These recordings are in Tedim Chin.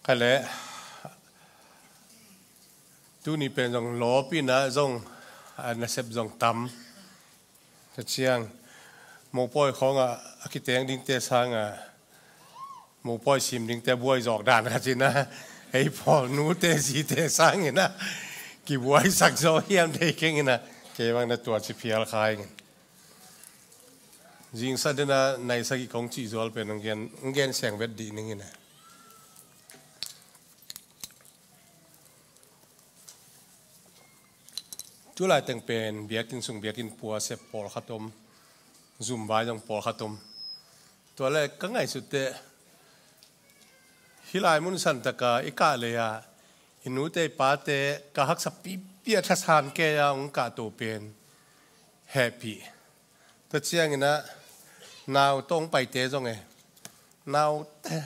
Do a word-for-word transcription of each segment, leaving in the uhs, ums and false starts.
Kha le, tuni pen zong lawp in ah zong, a nasep zong tam. Tua ciang mopawi khawng ah a kiteng dingte sang ah mopawi sim dingte buai zawk dan khat in ah, ei pawl nute zite sang in ah kibuaisak zaw hiam thei keng in ah, kei bang na tua ci phial kha ing. Zingsa den ah nai sagih kong cih zual pen hong gen, hong gen seng vet dih ning in ah. Tulai teng pen biakinn sung biakinn pua sep pawlkhat om, zum vai zong pawlkhat om. Tua le ka ngaihsut teh, hih lai mun san taka i kah lei ah i nute i pate ka haksa pipi a thasan kei a hong kahto pen hehpih. Tua ciangin ah nau tawh hong paite zong e, nau te,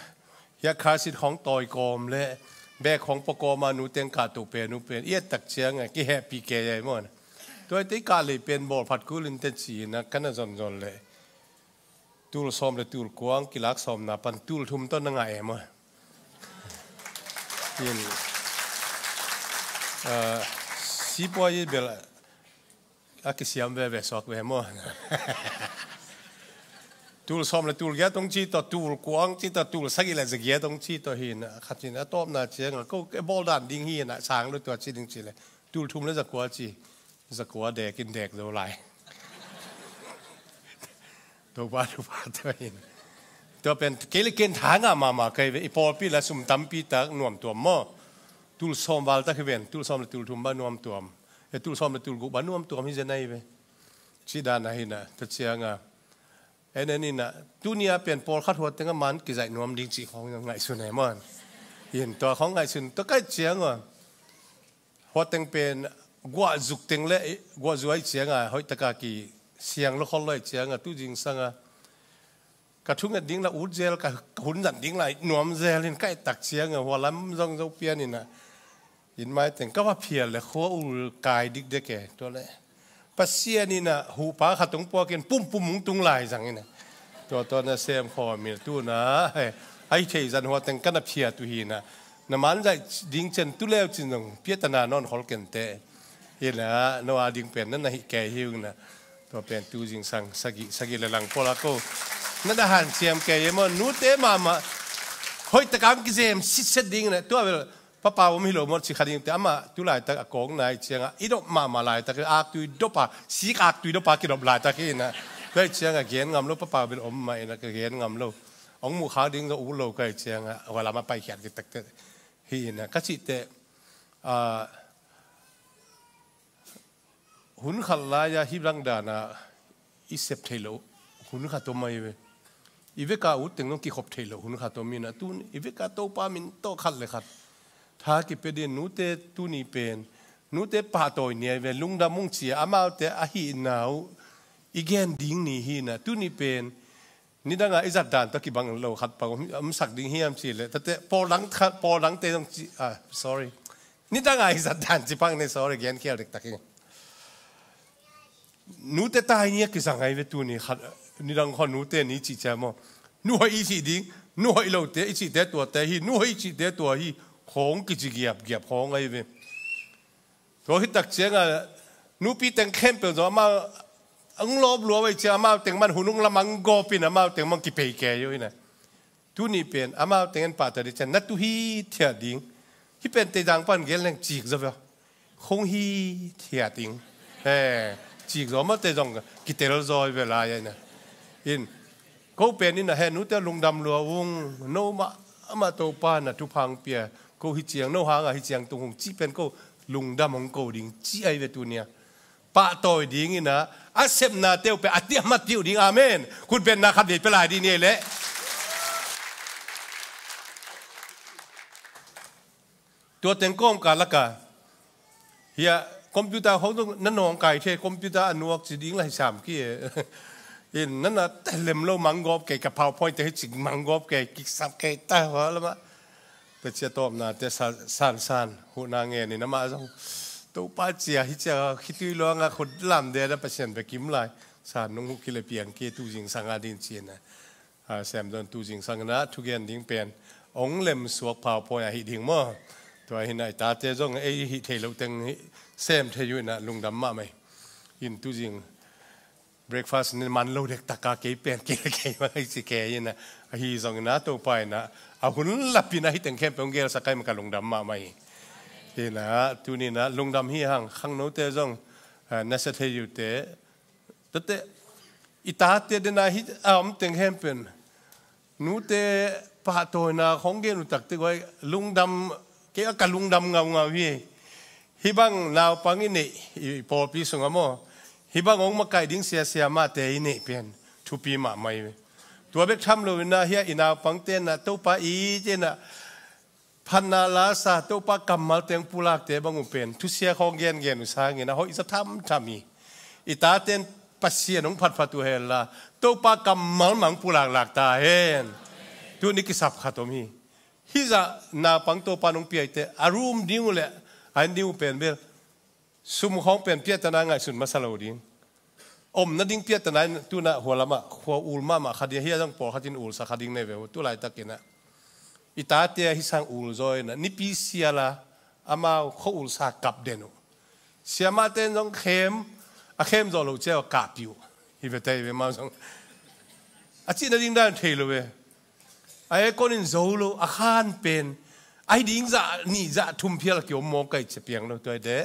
hia khasit khawng tawi kawm le bek khawng pua kawm a nu teng kahto pen, nu pen i et tak ciang a kihehpih kei a i maw. Tua i te i kah lei pen bawlphat kul in te ci in ah ka na zonzon leh tul sawm le tul kuang kilak sawmna pan tul thum tawh na ngah e maw. In, ah, sipuai i bel a kisiam veve suak ve maw. Tul sawm le tul giat hong ci tawh, tul kuang ci tawh, tul sagih le za giat hong ci tawh hi in ah, khat in a tawpna ciang ah ko ke bawl dan ding hi in ah, sang lo tua ci ding ci le tul thum le za kua ci, za kua dek in dek zo lai. Topa, Topa tua in. Tua pen kei le ken tha ngah mahmah kei ve, i pawlpi la sum tampi tak nuam tuam maw. Tul sawm val tak hi ven, tul sawm le tul thum ba nuam tuam. E, tul sawm le tul guk ba nuam tuam hi zen ahi ve. Ci dan ahi na, tua ciang a. En en in ah, tuni a pen pawlkhat huat teng a man kizaih nuam ding cih khawng ngaihsun e maw. In tua khawng ngaihsun, tua kaih ciang a. Huat teng pen guah zuk teng le, guah zuai ciang a, hoih taka kisiang lo khol lo ciang a, tu zingsang a. Ka thunget ding la ut zel, ka, ka hun zat ding la nuam zel in ka et tak ciang a, hua lam zong zo pian in ah. In mai teng ka va phial le khua ul kai dikdek e, tua le. Pasian in ah, huhpa khat hong puak in pum pum hong tung lai zang in ah. Tua, tua na sem khawm in tu na, he, ai thei zan hua teng ka na phiat uh hi in ah. Na man zaih ding cian tu leu cin zong, piatana nawn khol kente. Hi in ah, no a ding pen na na hih kei hi uh in ah. Tua pen tu zingsang, sagih, sagih le lang pawl a ko. Na na hanciam kei hi maw, nute mahmah. Hoih taka hong kizem sitset ding in ah. Tua bel, Papa om hi lo maw, ci kha ding te amah, tu laitak a kawkna i ciang a, i dop mahmah laitak, aktui dop a, sik aktui dop a kidop laitak hi in ah. Tua i ciang a gen ngam lo, Papa bel om mah in ah ka gen ngam lo. Hong muh khak ding zong ut lo ka i ciang a, hua lam a paikhiat kitak te hi in ah. Ka cih teh, ah, hun khat lai-a hih bang dan a i sep theih loh hun khat om ahi ve. I vek a ut teng zong kikhop theih loh hun khat om in ah, tun i vek a Topa min tawh khat le khat tha kipia ding. Nute tuni pen, nute pahtawi ni ahi ve, lungdam ung ci a, amaute a hihna uh i gen ding ni hi in ah, tuni pen nidang a i zat dan tawh kibang lo khat pang om, om sak ding hiam cih leh, tate, pawl dang khat, pawl dangte zong ci, ah, sorry. Nidang a i zat dan ci pang ne, sorry, gen khial dektak hi. Nute tai ni a kizang ahi ve tuni khat, nidang khaw nute ni cih ciang maw. Nu hoih i cih ding, nu hoih lote i cihte tuate hi, nu hoih i cihte tua hi, khawng kici giapgiap khawng ahi ve. Tua hi tak ciang a, nupi teng khempeuh zong amau hong lawp lua uh ahih ciang, amau teng man hun hong lamang gawp in, amau teng man kipei kei uh in a. Tuni pen amau teng en pahtawi ding ciang na tu hithiat ding. Hih pen teidang pan gen leng cik zaw ve. Hong hithiat ding. He, cik zaw mah te zong kitel zaw hi ve lai a in a. In, ko pen in a, he nute lungdam lua ung, no mah, amah Topa na thupha hong pia. Ko hi ciang, no hang a hi ciang tung hong cih pen ko lungdam hong ko ding cih ahi ve tuni a. Pahtawi ding in a, a sepna teuh pen a tiam a tiuh ding. Amen. Khut benna khat vei pia lai ding ni leh. Tua teng kawm ka lak a. Hia, computer hong zong na nawngkai thei, computer a nuak ci ding la hi sam ki e. In, na na te lem lo manggawp kei, ka PowerPoint te hi cik manggawp kei, kiksap kei ta hua lamah. Tua cia tawpna te san, san, san, huhna ngen in amah zong. Topa cia, hi cia, khitui luang a khut lam de na Pasian be kim lai. San nung hu ki le piang ki tu zingsang a din ci na. A, sem zon tu zingsang na, thugen ding pen. Ong lem suak PowerPoint a hih ding maw? Tua hi na, i tate zong ei hih thei lo teng hih sem thei uh hi na, lungdam mahmah hi. In tuzing breakfast ni man lo dek taka kei pen kei le kei mah hi ci kei hi na, ahi zong hi na, Topa hi na, a hun lapin a hih teng khempeuh ong gelsak ai mah ka lungdam mahmah hi. Hi na, tuni na lungdam hi hang, khangnote zong, ah, na sia thei uh te, tate, i tate dena hih a om teng khempeuh nute pahtawina khong gen uh takte guai, lungdam, kei a ka lungdam ngaungau hi. Hih bang naupang i neih, i pawlpi sungah maw, hih bang hong makaih ding sia siamahte i neih pen thupi mahmah hi. Tua bek tham lo hi na, hih a i naupangte na Topa i te na phatna lasa, Topa kammal teng pulakte bang uh pen thusia khong gengen uh sangin a hoih za thamtham hi. I taten Pasian hong phatphat uh hen la, Topa kammal mah hong pulaklak ta hen. Tuni kisap khat om hi. Hih zah naupang Topa nong piaite a room ding uh le a inn ding uh pen bel sum khawng pen piahtana ngaihsun masa lo ding. Om nading piahtana in tuna hua lamah khua ul mahmah kha ding, hia zong pawlkhat in ulsa kha ding nei ve uh, tu laitakin ah i tate ahi sang ul zaw in ah nipi siala amau khua ulsa kap den uh. Siamahte in zong khem, a khem zawh loh ciah uh a kahpih uh. Hi ve tei ve mau zong a cih nading dan thei lo ve. A aircon in zo lo, a khan pen a hi ding zah nih zah thum phial a kiom mawk kai cia piang lo. Tua hi te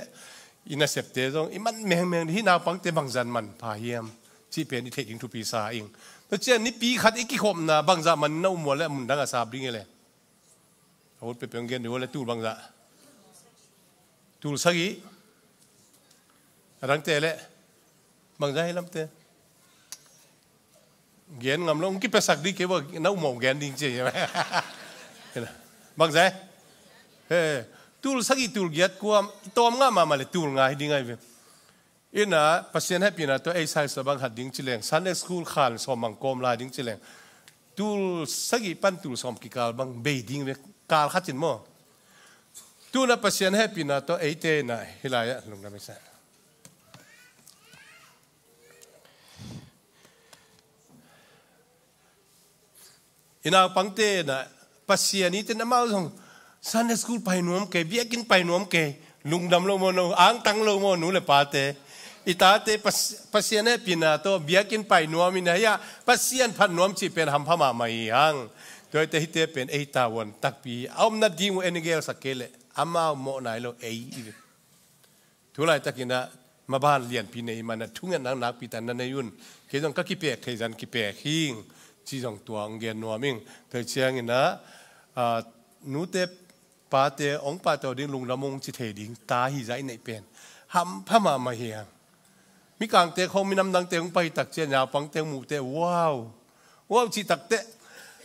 i nasepte zong i man mengmeng, hih naupangte bangzah in manpha hiam cih pen i theih ding thupi sa ing. Tua ciang nipi khat i kikhopna bangzah man na um uh le a mundang a sap ding hi le. A ut peuhpeuh gen ding uh le tul bangzah. Tul sagih. A dangte le bangzah hi lamte. Gen ngam lo, hong kipiasak ding kei bang, na umawh gen ding ci. Bangzah. He, tul sagih tul giat kua, tawm ngah mahmah le tul nga hi ding ahi ve. Ina, Pasian hehpihna tawh ei size bang hat ding ci leng, Sunday school khan sawm bang kawm lai ding ci leng, tul sagih pan tul sawm kikal bang bei ding ve, kal khat in maw. Tuna Pasian hehpihna tawh eite na hih lai-ah lungdam i sa. I naupangte na Pasian i ten amau zong Sunday school pai nuam kei, biakinn pai nuam kei, lungdam lo maw no, angtang lo maw nu le pate. I tate Pas-, Pasian hehpihna tawh biakinn pai nuam in a hia, Pasian phat nuam cih pen hampha mahmah hi hang. Tua hi te hihte pen ei tavuan takpi a om nading uh en i gelsak kei leh amau mawh nai lo ei i ve. Tu laitakin ah maban lianpi nei man ah thungetna nakpi tak na nei un. Kei zong ka kipek thei zah kipek hing ci zong tua hong gen nuam ing. Tua ciangin ah, ah, nute pate hong pahtawi ding lungdam hong ci thei ding ta hi zah i neih pen hampha mahmah hi hang. Mikangte khawng minam dangte hong pai tak ciang naupangte hong muh teh, wow, wow cih tak teh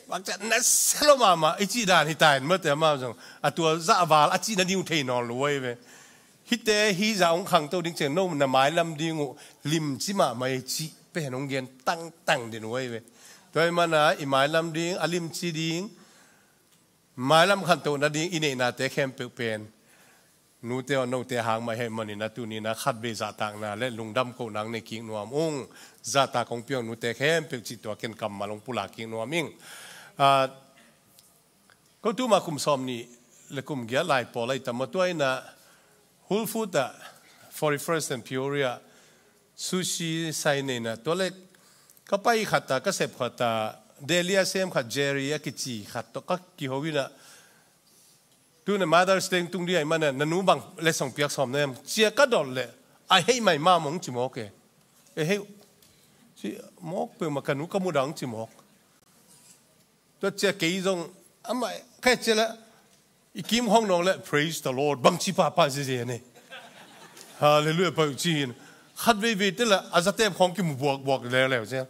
bang ciah na sia lo mahmah i cih dan hi ta in maw te, amau zong a tua zah val a cih nading uh thei nawn lo uh ahi ve. Hihte hih zah hong khangto ding ciang no na mailam ding uh limci mahmah hi cih pen hong gen tangtang den uh ahi ve. Tua ahih man ah i mailam ding, a limci ding, mailam khantoh nading i neihnate khempeuh pen nute aw note hang mah hi ahih manin ah tuni in ah khatvei zahtakna le lungdam kohna nei kik nuam ung. Zahtak kong pia ung nute khempeuh cih tua ken kammal hong pulak kik nuam ing. Ah, ko tuma kum sawm nih le kum giat lai pawl ahi tam maw, tua in ah Whole Foods ah, Forty-first and Peoria, sushi sai nei in ah, tua le ka pai khat ah, ka sep khat ah, Delhi a sem khat Jerry a kici khat tawh ka kiho in ah, tuna Mother's Day tung ding ahih man ah, na nu bang letsong piak sawm na hiam cia ka dot leh a hei mai mah mong ci mawk e. E hei ci mawk peuhmah, ka nu ka muh dang ci mawk. Tua cia kei zong amah ka et cia leh i kim hong nawng leh praise the Lord bangci pahpah ziazia nei. Hallelujah pah uh ci hi in. Khat veivei te leh a zatep khawng kimu buakbuak leuleu cia.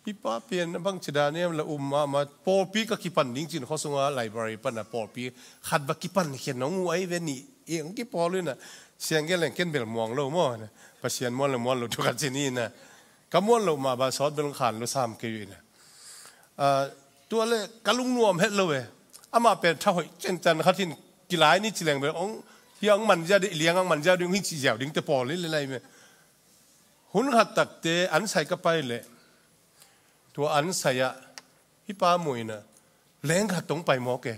Hih pa pen bangci dan hiam leh um mahmah, pawlpi ka kipan ding ci in khua sungah library pan ah pawlpi khat va kipan khen hong uh ahi ve nih. Eng kipawl uh in ah siang gen leng ken bel muang lo maw. Pasian muan le muan lo thu khat ci ni in ah. Ka muan loh mah bang sawt bel hong khan lo sam kei uh in ah. Ah, tua le ka lungnuam het lo e. Amah pen tha hoih ciancan khat hi in kilai ni ci leng bel hong, hia hong manzia ding, liang hong manzia ding, hong hi cih ziau ding te pawl hi le lai me. Hun khat takte an sai ka pai leh tua an sai ah hih pa muh in ah Leng khat tawh hong pai mawk e.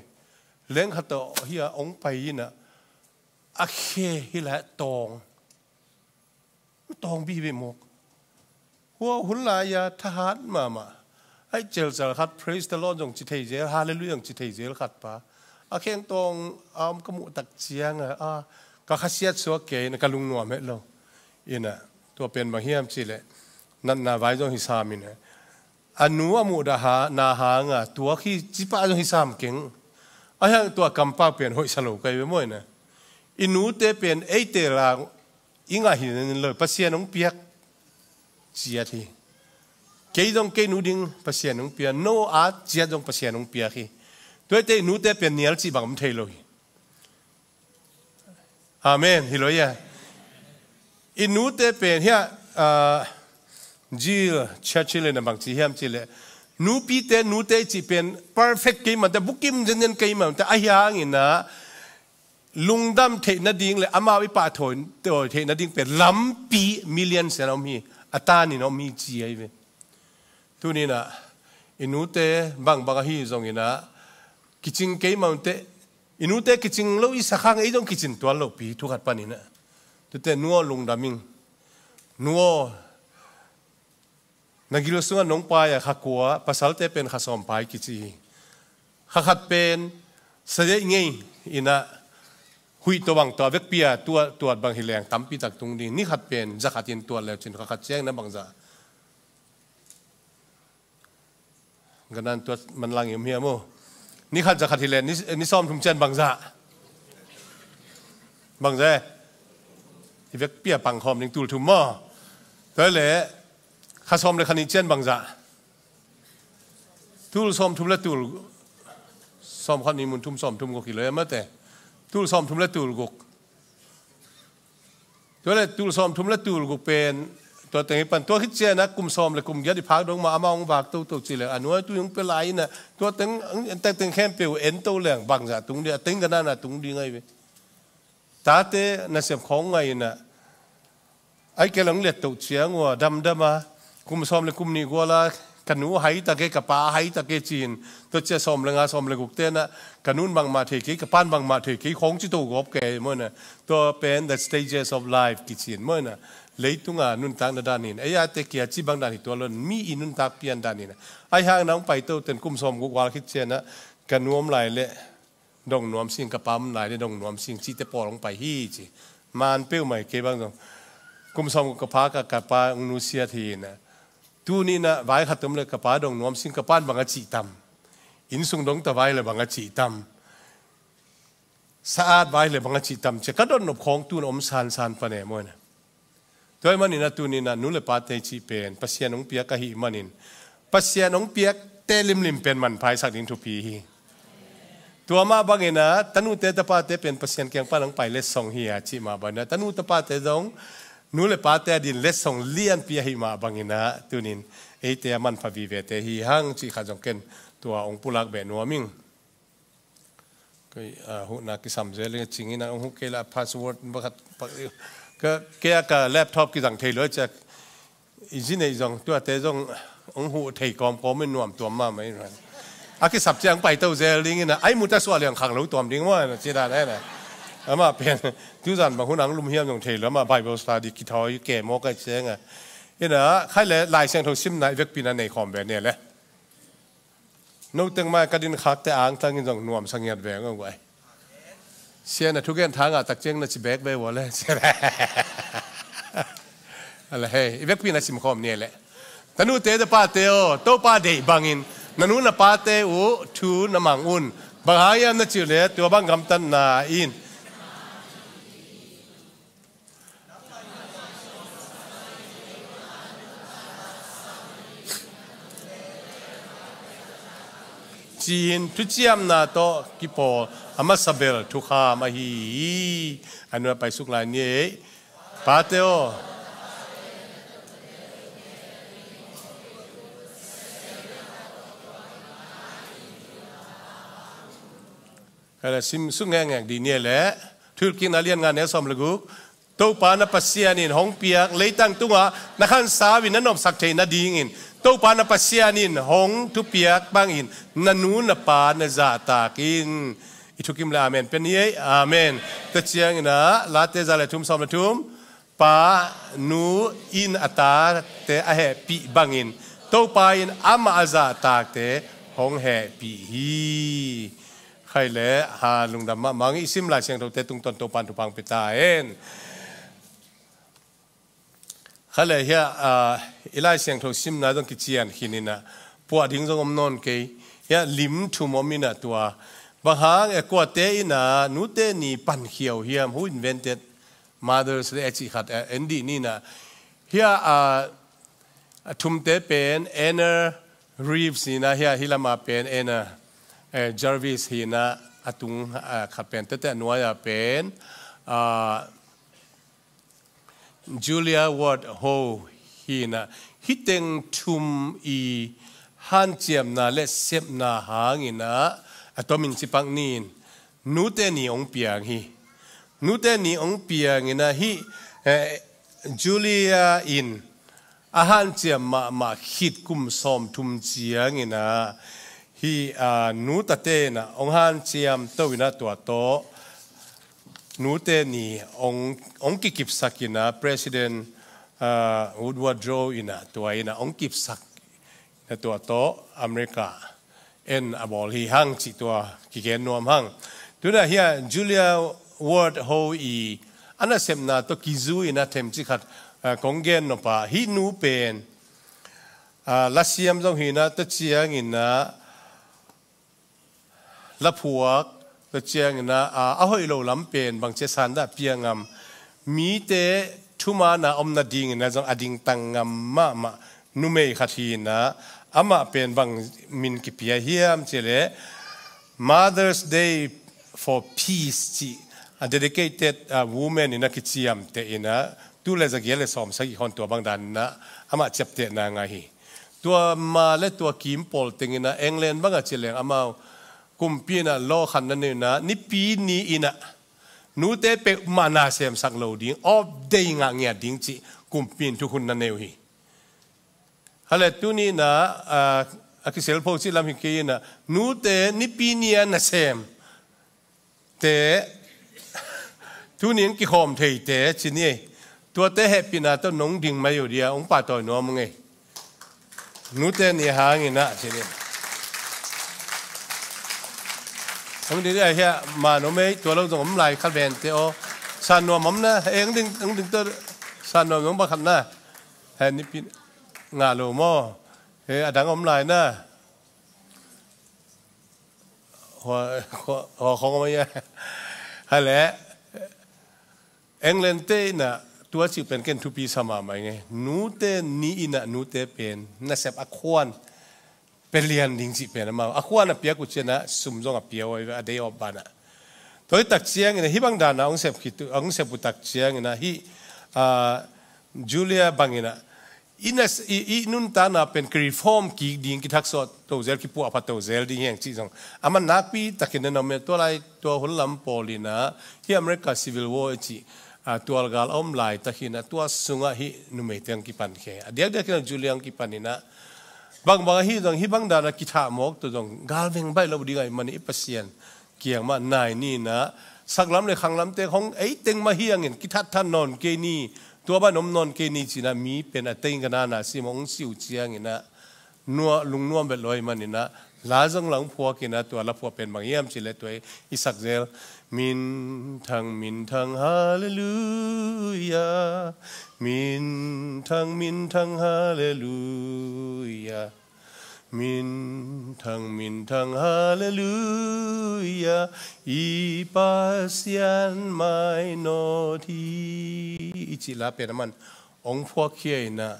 Leng khat tawh hi a hong pai in a, a khe hi lai tawng. Tawng bih bih mawk. Hua hun lai a thahat mahmah. Ai celcal khat, "Praise the Lord," zong ci thei zel, "Hallelujah," zong ci thei zel khat pa. A kheng tawng a om ka muh tak ciang a, a, ka khasiat suak kei in a, ka lungnuam het lo. In a, tua pen bang hiam cih leh, natna vai zong hi sam in a, a nu a muhdah na hang a tuak hi, ci pah zong hi sam keng. Ahi hang tua kampau pen hoihsa lo ka hi ve maw in a. I nute pen eite la i ngah hi nen lo, Pasian hong piak ciat hi. Kei zong kei nu ding Pasian hong piak, no a ciat zong Pasian hong piak hi. Tuate i nute pen nial cih bang om thei lo hi. Amen. Hi lo ia. I nute pen hi a, ah, Jill Churchill in a bang ci hiam cih leh, nupite, nute cih pen perfect kei mah te, bukim zenzen kei mah te, ahi hang in a, lungdam theih nading le amau i pahtawi theih nading pen lampi million sian a om hi, a tan in a om hi ci ahi ve. Tuni in a, i nute bangbang ahi zong in a, kicing kei mah te, i nute kicing lo i sakhang ei zong kicin tuan lo pi thu khat pan in a. Tute nu aw lungdam ing. Nu aw, na gil sungah nong pai a kha kua, pasalte pen kha sawm pai kici hi. Kha khat pen sadeih ngei in a, huih tawh bang tawh a vekpi a tuat, tuat bang hi leng tampi tak tung ding. Ni khat pen za khat in tuat leu cin kha khat ciang na bangzah. Ganan tuat manlang i um hiam aw. Ni khat za khat hi leng ni, ni sawm thum cian bangzah. Bangzah. I vekpi a pang khawm ding tul thum maw. Tua le kha sawm le kha nih cian bangzah. Tul sawm thum le tul sawm khat nih mun thum sawm thum guk hi lo ia mate. Tul sawm thum le tul guk. Tua le tul sawm thum le tul guk pen, tua teng hi pan, tua khit ciang a kum sawm le kum giat i phak dong mah amah hong vak toto ci le, a nuai tu hong pia lai in a, tua teng, teng, teng khempeuh en to leng bangzah tung ding, a teng ganan a tung ding ahi ve. Tate nasem khawng ngai in a, ai ke lang let to ciang ua, damdam a, kum sawm le kum nih gual a, ka nu hai tak e, ka pa hai tak e ci-in, tua cia sawm le nga sawm le guk te in a, ka nun bangmah thei kei, ka pan bangmah thei kei, khawng ci to gawp kei, maw in a, tua pen the stages of life kici in, maw in a, leitung a nuntakna dan in, ei a te kia ci bang dan hi tua lo in, mi i nuntak pian dan in a, ahi hang na hong pai to ten kum sawm guk gual khit ciang a, ka nu om lai le, dong nuam sing, ka pa om lai le dong nuam sing, cihte pawl hong pai hi ci. Man peuhmah hi kei bang zong. Kum sawm ka pa, ka, ka pa hong nusiat hi in a. Tuni in a vai khat om le ka pa dong nuam sing, ka pan bang a cih tam. Inn sung dong ta vai le bang a cih tam. Sa-at vai le bang a cih tam ci a. Ka dot nop khawng tu in a om sansan pan e maw in a. Tua ahih manin a tuni in a nu le pate cih pen Pasian hong piak ahih manin, Pasian hong piakte limlim pen manpha i sak ding thupi hi. Tua mah bangin a tanute tapate pen Pasian kiang pan hong pai letsong hi a cih mah bangin a tanu tapate zong nu le pate a din letsong lianpi ahih mah bangin a tunin eite a manpha vivete hi hang cih khat zong ken tua hong pulak beh nuam ing. Kei, ah, huhna kisam zel ing, cingin a hong huh kei la password pakhat, pa-, ka, kei a ka laptop kizang thei lo ciak. I zi neih zong, tuate zong hong huh thei kawmkawm in nuam tuam mahmah in. A kisap ciang pai to zel ding in a, ai mu ta suah liang khang lo tuam ding maw, na ci dan ai na. Amah pen, tuzan bang hun ang lum hiam zong thei lo, amah Bible study kithawi ke maw kai ciang a. In a, khai le, Lai Siangtho simna i vekpi na nei khawm ve ne le. No teng mai ka din khakte angtangin zong nuamsa ngiat veng aw guai. Sia na thugen tha ngah tak ciang na ci bek ve ua le. Sia le. A le hei, i vekpi na sim khawm ni le. Tanute tapate aw, Topa deih bangin, na nu na pate uh thu na mang un. Bang hang hiam na cih le, tua bang gamtatna in. Ci-in thuciamna tawh kipawl a masa bel thukham ahi hi. A nuai paisuk lai ni ei. Pate aw. Ka le sim suk ngekngek dih ni le. Thuhilhkikna lian nga neu sawm le guk. Topa na Pasian in hong piak leitang tungah na khansau in na nopsak theih nadingin Topa na Pasian in hong thupiak bangin na nu na pa na zahtak in. I thukim le amen pen hi ei. Amen. Tua ciangin ah Late za le thum sawm le thum, pa nu in a tate a hehpih bangin Topa in amah a zahtakte hong hehpih hi. Khai le ha lungdam mahmah ing. I sim Lai Siangthote tungtawn Topa in thupha hong pia ta hen. Kha le hia, ah, i Lai Siangtho simna zong kician khin in ah, puah ding zong om nawn kei. Hia lim thum om in ah tua. Bang hang e kuate in ah nute ni pan khia uh hiam? Who invented Mother's Day a cih khat, eh, en dih ni in ah. Hia, ah, a thumte pen Anna Reeves hi in ah, hia hi lama pen Anna, eh, Jarvis hi in ah, a tung, ah, khat pen tete a nuai-a pen, ah, Julia Ward Howe hi in ah, hih teng thum i hanciamna le sepna hangin ah, a tomin cipak ni in, nute ni hong piang hi. Nute ni hong piang in ah hih, eh, Julia in a hanciam mahmah khit kum sawmthum ciangin ah, hih, ah, nu tate in ah hong hanciam to in ah tua tawh nute ni hong, hong kikipsak in ah President, ah, Woodrow Wilson in ah tua in ah hong kipsak in ah tua tawh America en a bawl hi hang cih tua kigen nuam hang. Tu in ah hia Julia Ward Howe i a nasepna tawh kizu in ah themcik khat, ah, kong gen nop a, hih nu pen, ah, lasiam zong hi in ah, tua ciangin ah laphuak, tua ciangin ah, ah, a hoih lo lam pen bangci a san dah pia ngam, mite thumanna om nadingin ah zong a dingtang ngam mahmah numei khat hi in ah, amah pen bang min kipia hiam cih leh Mother's Day for Peace cih, a dedicated, ah, women in ah kiciamteh in ah, tul le zagiat le sawmsagih khawng tua bang dan in ah amah ciaptehna ngah hi. Tua ma le tua kim pawl teng in ah England bang a ci leng amau kumpi in ah law khat na nei in ah, Nipi ni in ah nute peuhmah na semsak lo ding, off day ngah ngiat ding cih kumpi in thukhun na nei uh hi. Hale tuni in ah, ah, a kiselpho cih lam hi kei in ah, nute Nipi ni a nasemte, tuni in kikhawm theite ci ni ei. Tuate hehpihna tawh nong ding mai uh dia, hong pahtawi nuam ung ei. Nute ni hangin ah ci ni. Hong ding dia hia, man om ei, tua lo zong om lai kha vente aw. San nuam om na, eh, hong ding, hong ding tawh san nuam zong bang khat na. He Nipi ngah lo maw? He a dang om lai na. Hua, hua, hua khong om a ia. Hale. England te in ah tua cih pen ken thupi sa mahmah ing ei. Nute ni in ah nute pen nasep a khuan pia lian ding cih pen amau a khuan a piak uh ciang ah sum zong a pia uh a, a day off ban ah. Tua hi tak ciangin ah hih bang dan ah hong sep khit uh, hong sep uh tak ciangin ah hih, ah, Julia bangin ah i na, i, i nuntakna pen kireform kik ding, kithaksuah to zel, kipuahphat to zel ding hi hang cih zong a man nakpi takin na nuam ei. Tua lai tua hun lam pawl in ah hih America Civil War i cih, ah, tualgal a om laitak hi in ah tua sungah hih numeite hong kipan khe. A diakdiak in ah Julia hong kipan in ah bangbang ahi zong hih bang dan ah kithah mawk tawh zong galveng baih lo ding ahih manin i Pasian kiang mah nai ni in ah, saklam le khanglamte hong ei teng mah hi hangin kithatthat nawn kei ni, tua ban om nawn kei ni ci in ah mi pen a teng ka nana sim hong si uh ciangin ah nua, lungnuam vet lo ahih manin ah la zong la hong phuak in ah tua la phuak pen bang hiam cih leh tua i sak zel. Minthang, minthang, halleluia. Minthang, minthang, halleluia. Minthang, minthang, halleluia. I Pasian mainawt hi. I cih la pen a man hong phuakkhia in ah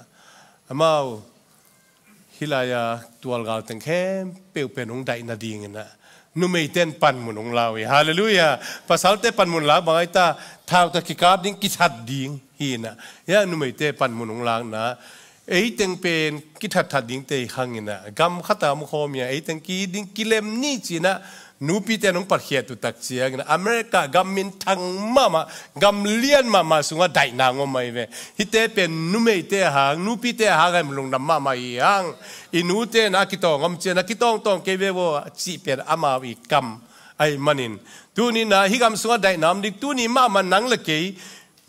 amau hih lai-a tualgal teng khempeuh pen hong daih nadingin ah numeite in panmun hong la uh hi. Halleluia. Pasalte panmun lak bang ahi ta, thau tawh kikap ding, kithat ding hi in ah, hia numeite panmun hong lakna, ei teng pen kithatthat dingte hi hang in ah, gam khat ah om khawm hi a, ei teng ki ding kilem ni ci in ah Nupite nong patkhiat uh tak ciangin America gam minthang mahmah, gam lian mahmah sungah daihna ngom ahi ve. Hihte pen numeite a hang, nupite a hang a lungdam mahmah hi hang. I nute na a kitawng om cian a kitawngtawng kei ve vaw cih pen amau i kam ahi manin, tuni na hih gam sungah daihna om ding, tuni mahmah nang le kei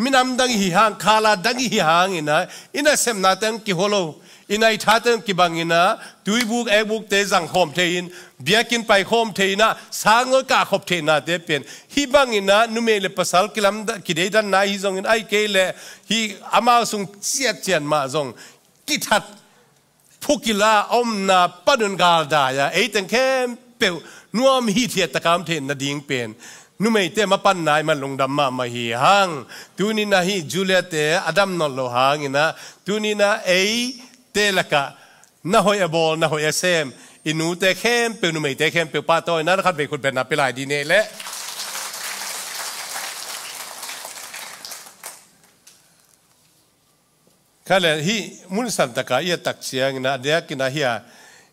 minam dang i hi hang, khala dang i hi hangin ah, i nasepnate hong kihua lo, i naithate hong kibangin ah, tuibuk ekbukte zang khawm thei in, biakinn pai khawm thei in ah, sangawi kah khop theihnate pen hih bangin ah, numei le pasal kilamda-, kideidanna hi zongin, ahih kei leh hih amau sung ciatciat mah zong kithat phukila omna panun galdai-a eiteng khempeuh nuam hithiat taka om theih nading pen numeite mapanna i man lungdam mahmah hi hang. Tuni na hih Juliate a dam nawn lo hangin ah, tuni na eite lakah na hoih a bawl, na hoih a sem i nute khempeuh, numeite khempeuh pahtawina na khatvei khutbetna pia lai dih ni leh. Kha le hih mun santaka i a tak ciangin ah, a diakin ah hih a,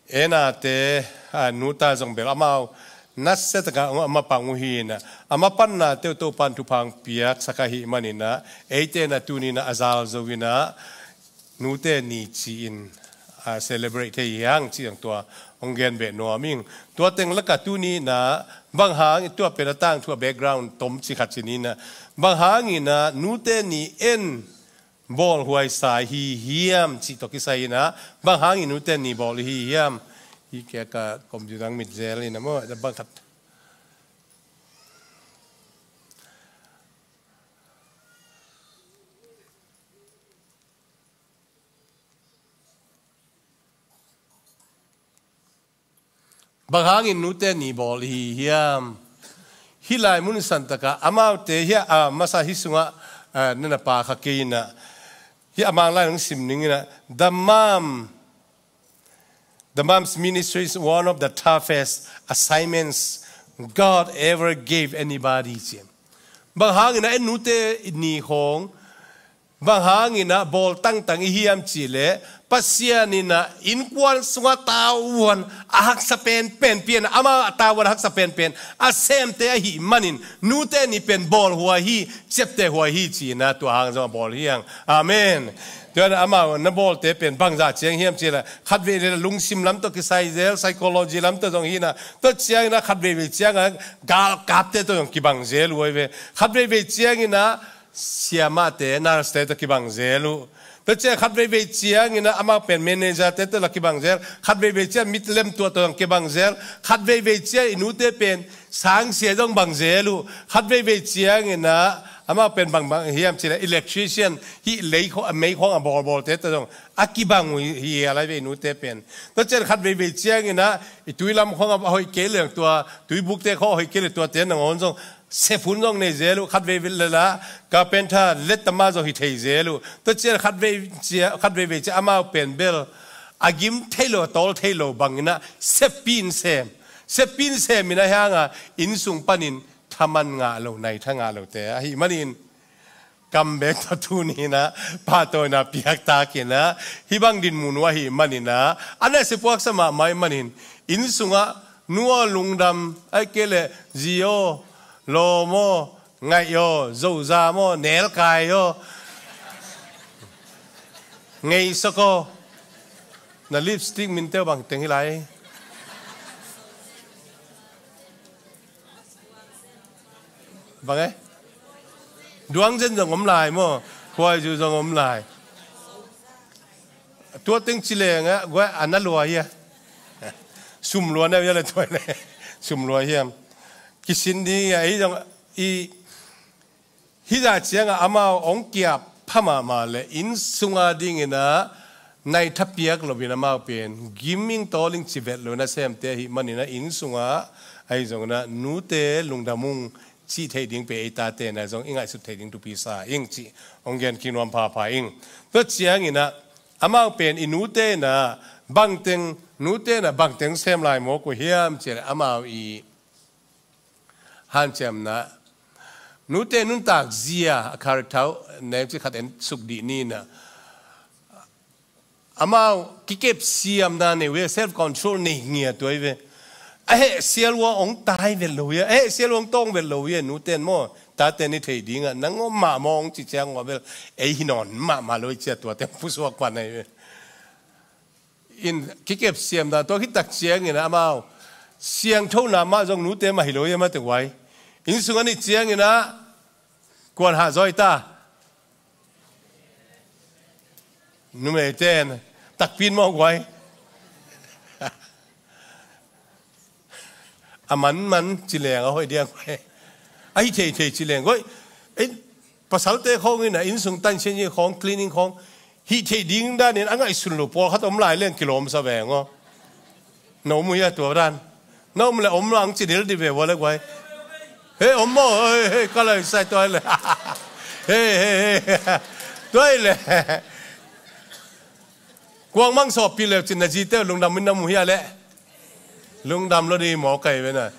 Enate, a, nuta zong bel amau nasia taka a mapang uh hi in ah, a mapannate uh Topan thupha hong piaksak ahih manin ah, eite na tuni na a zal zo in ah, nute ni ci-in, a, celebrate thei hi hang cih zong tua hong gen beh nuam ing. Tua teng lakah tuni na bang hang, tua pen a tangthu a background tom ci khat ci ni na, bang hangin ah nute ni en bawlhuai sa hi hiam cih tawh kisai in ah, bang hangin nute ni bawl hi hiam? Hi kia ka computer mit zel in ah maw, bang khat. Bang hangin nute ni bawl hi hiam? Hih lai mun santaka amaute hih a, a masa hih sungah, a, na na pa kha kei in ah, hih a Mang lai nong sim ning in ah, the mom, the mom's ministry is one of the toughest assignments God ever gave anybody, ci. Bang hangin ah en nute ni khawng bang hangin ah bawl tangtang i hiam cih leh, Pasian in ah innkuan sungah tavuan a haksa penpen pian, amah tavuan a haksa penpen a semte ahih manin, nute ni pen bawlhuai hi, ciaptehhuai hi ci-in ah tua hang zong a bawl hi hang. Amen. Tua in ah amau na bawlte pen bangzah ciang hiam cih leh, khatveivei lungsim lam tawh kisai zel, psychology lam tawh zong hi in ah, tua ciangin ah khatveivei ciangah galkapte tawh zong kibang zel uh ahi ve. Khatveivei ciangin ah siamahte, nurse-te tawh kibang zel uh. Tua ciang khatveivei ciangin ah amau pen manager-te tawh la kibang zel, khatveivei ciang mit lemtuah tawh zong kibang zel, khatveivei ciang i nute pen sangsia zong bang zel uh, khatveivei ciangin ah amau pen bangbang hiam cih leh electrician, hih lei khawng, a mei khawng a bawlbawlte tawh zong a kibang uh hi, hi a lai ve i nute pen. Tua ciang khatveivei ciangin ah i tui lam khawng a hoih kei leng tua, tuibukte khawng a hoih kei leng tuate nangawn zong sep hun zong nei zel uh, khatveivei leh la carpenter, lettama zong hi thei zel uh. Tua ciang khatvei cia, khatveivei ciang amau pen bel a gim thei lo, a tawl thei lo bangin ah seppih in sem, seppih in sem in ah hih hangah inn sung panin thaman ngah lo, naitha ngah lote ahih manin, kam bek tawh tuni in ah pahtawina piaktak in ah, hih bang dinmun uh ahih manin ah, a nasia puaksa mahmah ahih manin, inn sungah nu aw lungdam, ahih kei leh zi aw, lawm aw, ngaih aw, zozam aw, nelkai aw, ngeisok aw, na lipstick minte aw bang teng hi lai. Bang e? Duangzen zong om lai maw? Khuaizu zong om lai. Tua teng ci leng ah, guai a na lua hia? Sum lua na hia le tua le? Sum lua hiam? Kisin ding a, ei zong i hih zah ciangah amau hong kiap pha mahmah leh inn sunga dingin ah naitha piak loin amau pen giming tawling civet lo nasemte ahih manin ah inn sungah ahi zongin ah nute lungdam ung cih theih ding pen ei tate na zong i ngaihsut theih ding thupi sa ing cih hong gen kik nuam phapha ing. Tua ciangin ah amau pen i nute na bangteng, nute na bangteng sem lai mawk uh hiam cih leh amau i hanciamna, nute nuntak zia a character neu ci khat en suk dih ni na. Amau kikep siamna nei ve, self control nei ngiat uh ahi ve. a heh sial ua hong tai vet lo hi a, a heh sial ua hong tawng vet lo hi a, nute in maw, tate in i theih dingah nang om mahmah hong ci ciang ua bel, ei hi nawn mahmah lo i ci a, tuate hong pusuak pan ahi ve. In kikep siam dan tua khit tak ciangin ah amau siangthona mah zong nute mah hi lo hi a, mate guai. Inn sung a nih ciangin ah kuan hah zawi ta. Numeite in takpi in maw guai. A manman ci leng a hoih diang guai. A hih theithei ci leng guai. Ei, pasalte khawng in a inn sung tansian hi khawng, cleaning khawng, hih theih ding danin a ngaihsun lo pawlkhat om lai leng kilawmsa veng aw. Na om uh hia tua dan? Na om le om lang ci dildil ve ua le guai. He, om maw? He, he, ka lai sai tua le. He, he, he. Tua le. Kuang mang sawppih leu cin na zite lungdam in na mu hia le. Lungdam lo di maw kai ve na.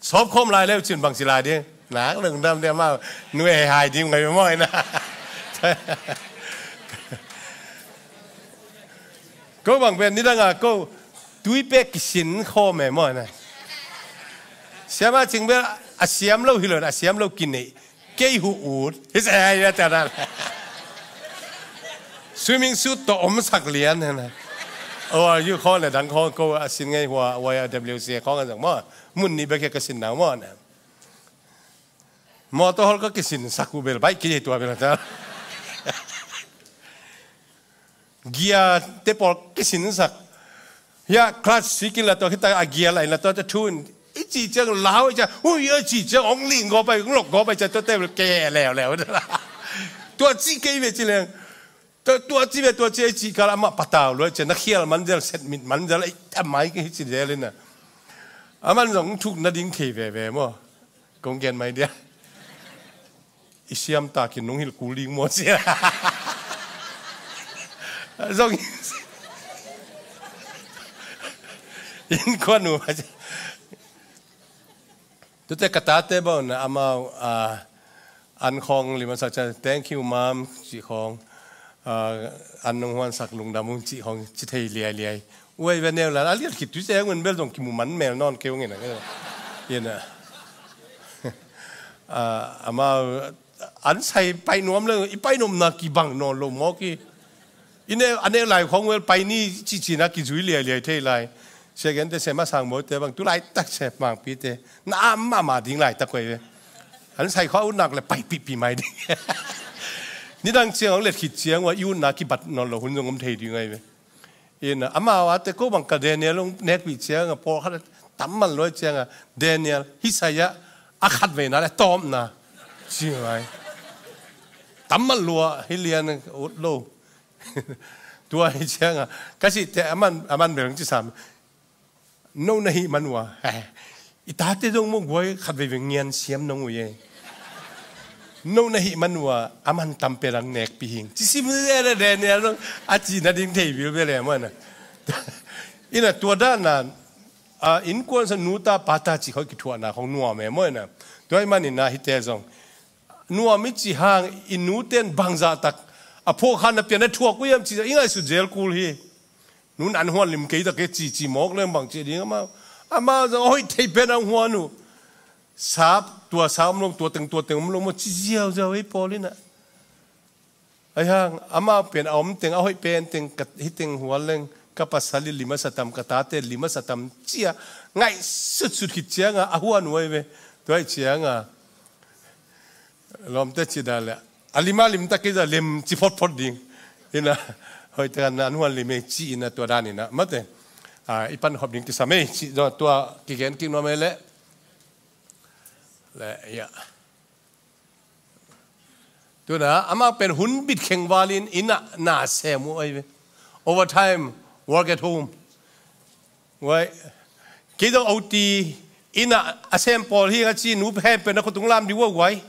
Sawp khawm lai leu cin bang ci lai ding. Nak lungdam dia mau. Nuai hai ding ngai maw na. Ko bang pen nidang a ko tui pek kisin khawm e maw na. Siama cing bel a siam lo hi lo na, a siam lo kinei. Kei hu ut. Hi se ai ya ta na. Swimming suit tawh om sak lian na. Oh, you call le dang call ko a sin ngai hua, hua ya W C khawng a zang maw. Mun ni bek ka sin na maw na. Mawtaw hol ka kisin sak uh bel baih kei tua bel ta. Gia te pawl kisin sak. Hia, class six in la tua khita a gia lai la tua te thun. I ci ciang lau i ciang, ui, i ci ciang ong ling go pai, ong lok go pai ciang tua te bel ke leu leu. Tua ci kei ve ci leng. Tua, tua ci ve, tua ci, i ci kal amah patau lua ciang na khial man zel, set mit man zel, ei, amai kei ci zel in na. Aman zong thuk na ding thei veve maw. Kong gen mai dia. I siam takin nong hilh kul ding maw sia. Zong in kuan uh. Tute ka tate bang na amau, ah, an khawng lim a sak ciang, "Thank you, Mom," cih khawng, ah, "An nong huansak lungdam ung," cih khawng ci thei liailiai. Uai ve neu la, a liat khit tui ciang un bel zong kimu man mel nawn kei ung in a. In a. Ah, amau, an sai pai nuam le, i pai nuam na kibang nawn lo mawk hi. I neu, a neu lai khawng vel pai ni cihcih na kizui liailiai thei lai. Sia gen te sem a sang bo te bang tu laitak sem mangpi te. Na am mahmah ding laitak koi ve. An sai khawng a ut nak le pai pihpih mai ding. Nidang ciang hong let khit ciang ua i ut na kibat nawn lo hun zong om thei ding ai ve. In a, amau a te ko bang ka Daniel hong nekpih ciang a pawlkhat tam man luai ciang a Daniel hi sai a a khat veina le tawpna. Ci ngai. Tam man lua hi lian ut lo. Tua hi ciang a ka sih te a man, a man bel hong ci sam. No na hih man ua. I tate zong maw guai khat veivei ngian siam nong uh e. No na hih man ua a man tam pen ang nekpih hing. Ci sim le le Daniel zong a ci na ding thei bil bel e maw na. In a tua dan a, a, innkuan sa nu ta pa ta ci khawng kithuahna khawng nuam e maw na. Tua hi man in a hite zong. Nuam i ci hang i nu ten bangzah tak a phuak khan na pian na thuak uh hiam ci i ngaihsut zel kul hi. Nu nan huan lim kei tak e ci ci mawk leng bang ci ding amau. Amau zong a hoih thei pen ang huan uh. Sap, tua sa om lo, tua teng, tua teng om lo maw ci ziauziau ei pawl in a. Ai hang, amau pen a om teng, a hoih pen teng, ka, hi teng huan leng, ka pasal i lim a sa tam, ka tate lim a sa tam, cia, ngaihsutsut khit ciang a, a huan uh ai ve, tua hi ciang a. Lawmte ci dan le, a lim a lim tak kei za lem ci photphot ding. Ina, hoih tak a na an huan lim e ci ina tua dan ina, mate. A, i pan khop ding kisam e, ci, tua kigen kik nuam e le. Le, ya. Tuna, amah pen hun bit kheng valin ina na sem uh ai ve. Overtime, work at home. Guai. Kei zong O T ina a sem pawl hi a ci nu hem pen na khut tung lam di uh guai.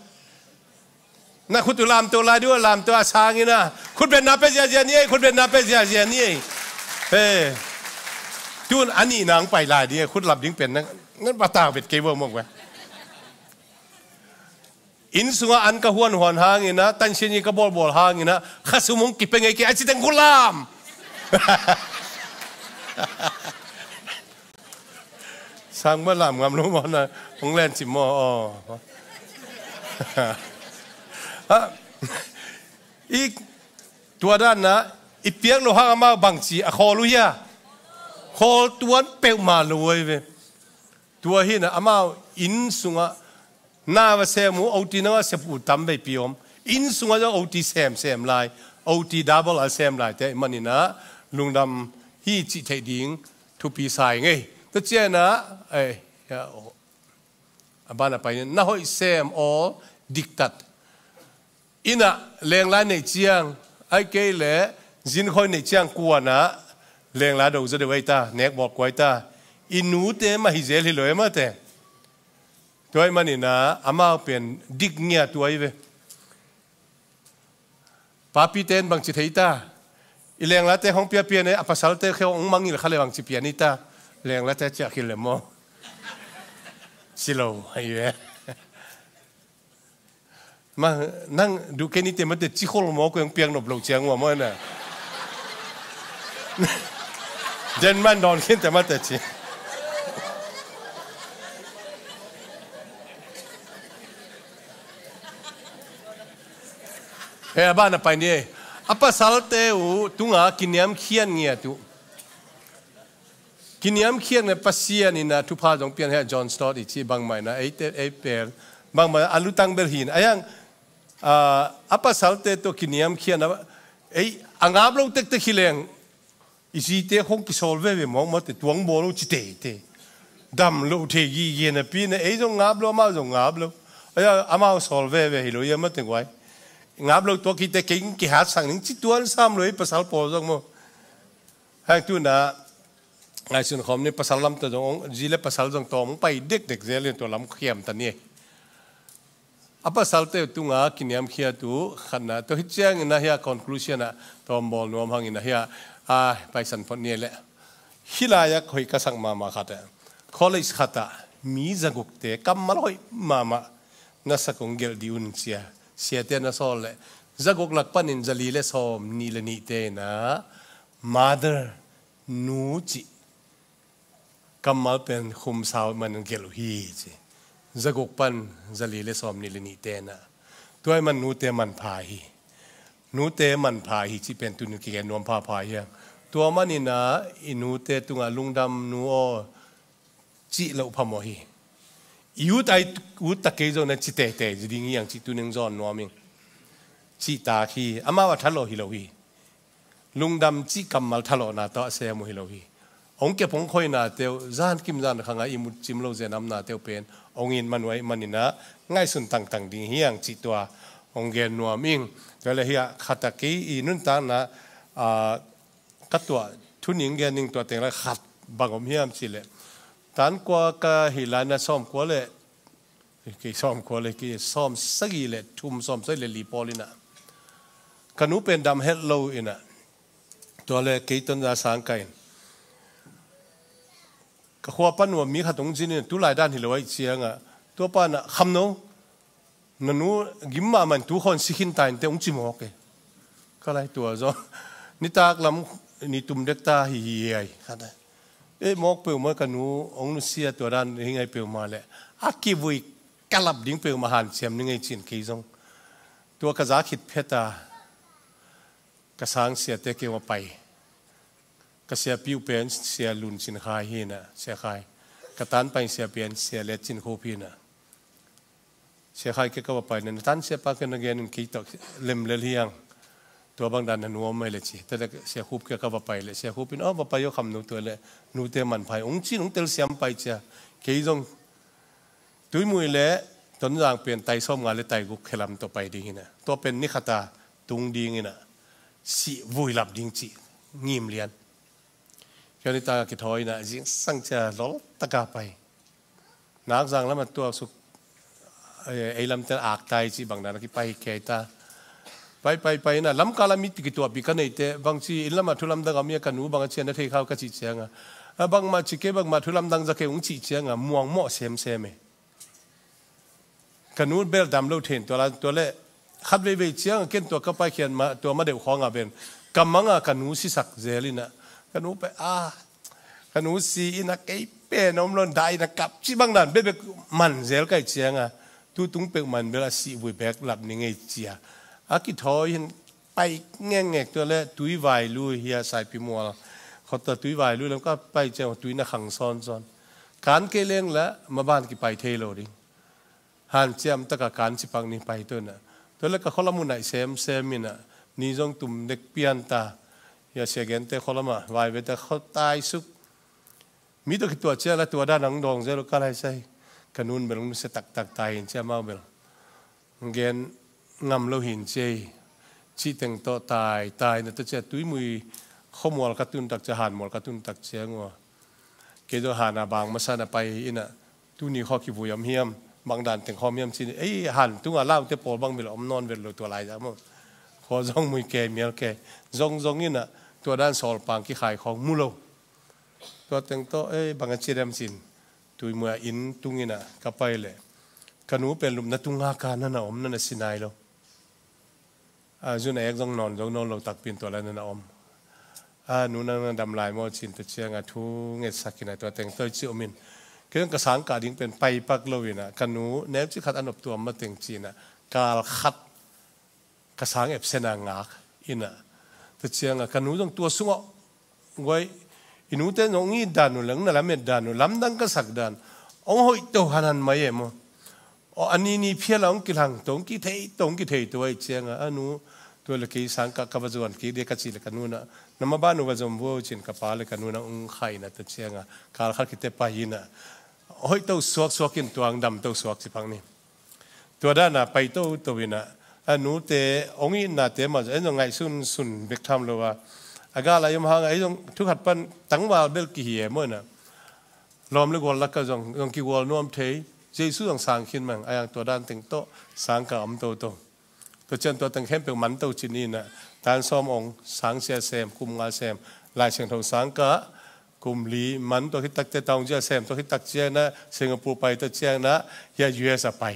Na khut tung lam to lai di uh lam to a sang ina. Khut ben na pe ziazia ni ei, khut ben na pe ziazia ni ei. He. Tun ani nang pai lai di khut lam ding pen na. Nan ba tang bet kei bo mo guai. Inn sungah an ka huanhuan hangin ah, tansian i ka bawlbawl hangin ah, kha sum hong kipia ngei kei a ci teng khulam. Sang ma lam ngam lo maw na, hong len cim maw, aw. Ha, i tua dan na, i piak lo hang amau bangci a khawl uh hia? Khawl tuan peuhmah lo uh hi ve. Tua hi na amau inn sungah na va sem uh, oti na va sem uh tam veipi om. Inn sungah zong oti semsem lai, oti double a sem lai te manin ah lungdam hi cih theih ding thupi sa ing ei. Tua ciang ah, eh, ya, oh. A ban a pai ni, na hoih sem aw diktat. Inn ah lenglai neih ciang, ahih kei leh zinkhoi neih ciang kuan ah lenglai do zaw deuh ei ta, nek bawlkua ei ta. I nute mah hi zel hi lo ei mate. Tua ahih manin ah amau pen dik ngiat uh ahi ve. Papite in bangci thei ta? I lenglaite hong piapia ne, a pasalte kheu hong mangngilh kha le bangci pia ni ta? Lenglaite ciah khil le maw? Ci lo ahi ve. Ma, nang duh kei ni te mate, ci khol maw, ko hong piak nop lo ciang uh a maw na. Den man dawn khin te mate ci. He, a ban a pai ni ei. A pasalte uh tunga kiniamkhiat ngiat uh. Kiniamkhiat ngiat, Pasian in ah thupha zong pian he, John Stott i ci bangmah in ah, ei te, ei pen, bangmah a lutang bel hi in. A yang, ah, a pasalte tawh kiniamkhiat na, ei, a ngap lo tektek hi leng, i zite khong kisawl veve mawkmawk te, tuang bawl lo ci teitei. Dam lo thei gige napi na, ei zong ngap lo, amau zong ngap lo. Ei, amau sawl veve hi lo, ia mate guai. Ngap lo tuak hi te, kei kihat sang ning ci tuan sam lo, ei pasal pawl zong maw. Hang tu na, ngaihsun khawm ni, pasal lam tawh zong, zi le pasal zong tawm pai dekdek zel in tua lam khiam ta ni. A pasalte tunga kiniamkhiat uh khatna, tua hi ciangin ah hiah conclusion ah tawm bawl nuam hangin ah hiah, a, paisan phot ni leh. Hih lai-ah hoih ka sak mahmah khat ah, college khat ah mi zagukte kammal hoih mahmah na sak, hong gelh dih un cia. Siate na sawl leh zaguk lak panin zali le sawm nih le nihte in ah mother, nu cih kammal pen khum sau man gelh uh hi ci. Zaguk pan zali le sawm nih le nihte in ah. Tua ahih man nute manpha hi. Nute manpha hi cih pen tunin kigen nuam phapha hi hang. Tua manin ah i nute tungah lungdam nu aw cih loh phamawh hi. I ut ai ut ta kei zong na ci teitei zi ding hi hang cih tunin zawn nuam ing. Cihtak hi, amau a thalawh hi lo hi. Lungdam cih kammal thalawhna tawh a sem uh hi lo hi. Hong kep hong khoinate uh, zan kim zan khang ah i mut cim lo zenamnate uh pen hong it man uh ahih manin ah ngaihsun tangtang ding hi hang cih tua hong gen nuam ing. Tua le hiah khat ah kei i nuntakna, ah, ka tuah thuning gen ning, tua teng la khat bang om hiam cih leh, tan kua ka hih lai na sawm kua le, kei sawm kua le, kei sawm sagih le thum, sawm sagih le li pawl in ah, ka nu pen dam het lo in ah, tua le kei Tonzang sang ka in, ka khua pan uh a mi khat hong zin in, tu lai dan hi lo ahih ciang ah, tua pan ah, Khamno, na nu gim mahmah in tu khawng si khin ta in teh, hong ci mawk e. Ka lai tua zaw, nitak lam ni tum dek ta hi hi ai. Ka ta, eh, mawk peuhmah, ka nu hong nusia tua dan hi ngai peuhmah leh, a kivui ka lap ding peuhmah hanciam ni ngei cin kei zong. Tua ka za khit phet a, ka sang siate kiang va pai. Ka siapi uh pen Sia Lun Cin Khai hi in ah, Sia Khai. Ka tan pai siapi in Sia Let Cin Khup hi in ah. Sia Khai kiang ka va pai na, na tan siapa kiang na gen in kei tawh lem lel hi hang. Tua bang dan na nuam mai le ci. Tua le Sia Khup kiang ka va pai le, Sia Khup in, "Aw, va pai aw Khamno, tua le nute manpha hi," hong cin, hong telsiam pai cia. Kei zong Tuimui le Tonzang pen tai sawmnga le tai guk khe lam tawh pai ding hi in ah. Tua pen ni khat a tung ding hi in ah. Sih vuilap ding cih ngim lian. Kei nitak a kithawi in ah, zingsang cia lol taka pai. Nakzang lam a tuaksuk, eh, ei lamte in Aktai cih bang dan a kipai kei ta. Pai, pai, pai in ah, lamkal a mi kituahpih ka neih teh, bangci inn lam a thu lamdang a om hia, ka nu bang a ci a na thei kha uh ka cih ciang a, a, bangmah ci kei, bangmah thu lamdang za kei ung cih ciang a, muang mawh semsem e. Ka nu bel dam lo thei in tua la, tua le khat veivei ciang a ken tua ka paikhiat ma, tua ma deuh khawng a pen ka mang a, ka nu sisak zel in ah, ka nu pai a, ka nu si in ah kei pen om lo, dai na kap ci bang dan bekbek man zel kai cianga, tu tung pek man bel a sih vui bek lap ni ngei cia. A kithawi hin pai ngengek tua le tui vai lui hia Saipi mual. Khota tui vai lui lam ka pai ciang tui na khang sawnsawn. Kan kei leng la maban kipai thei lo ding. Hanciam taka kan cipak ni pai tuna. Tua le ka kholam uh naih semsem ina, ni zong tum dek pian ta. Hia sia gente kholama vai vete khotai suk. Mi tawh kituah ciang la tua dan ang dawng zel uh ka lai sai. Ka nun bel nung sia taktak tai hin ciang mau bel gen ngam lo hin ciei. Cih teng tawh tai tai na ta cia tuimui khuamual ka tun tak cia hanmual ka tun tak ciang ua. Kei zong hana bang masa na pai ina tuni khaw kivui om hiam, bang dan teng khawm hiam cin ei han tunga laute pawl bang bel om nawn vel lo tua lai zah maw. Khaw zong mui ke mial ke zong zong ina tua dan sawlpang kikhai khawng mu lo. Tua teng tawh ei bang a ci dem cin tuimui a inn tung ina ka pai le ka nu pen lupna tunga ka nana om nana sinai lo. A zun a ek zong nawn zong nawn lo takpin tua lai nana om. A nu nang na dam lai maw cin ta cianga thu ngetsak ina tua teng tawh ci omin. Kei zong ka sangkah ding pen pai pak lo ina ka nu neu ci khat a nop tuam ma teng cina kal khat ka sang epsena ngak ina. Ta cianga ka nu zong tua sungah guai i nute zong i dan uh leng na lamet dan uh lamdang ka sak dan ong hoih to hanan mai em aw. Aw a ni ni phial a ong kilang to ong kithei to ong kithei to ai cianga a nu tua le kei sang ka ka va zuan kik dia ka cih le ka nu na na ma ban uh va zom vuau cin ka pa le ka nu na ong khai na ta cianga kal khat kite pai ina hoih to suak suak in tuang dam to suak ci phang ni. Tua dana pai toto ina a nute ong itnate mah zong ei zong ngaihsun sun bek tham lo a a gal a i om hanga ei zong thukhat pan tangval bel kihi e maw ina. Lawm le gual laka zong zong kigual nuam thei. Jesu zong sang khin mang a yang tua dan teng tawh sang ka om toto. Tua cian tua teng khempeuh man to cin ina tan sawm ong sang sia sem kum nga sem Lai Siangtho sang ka kum li man tua khit takte taung zia sem tua khit tak ciangna Singapore pai ta ciangna hia U S a pai.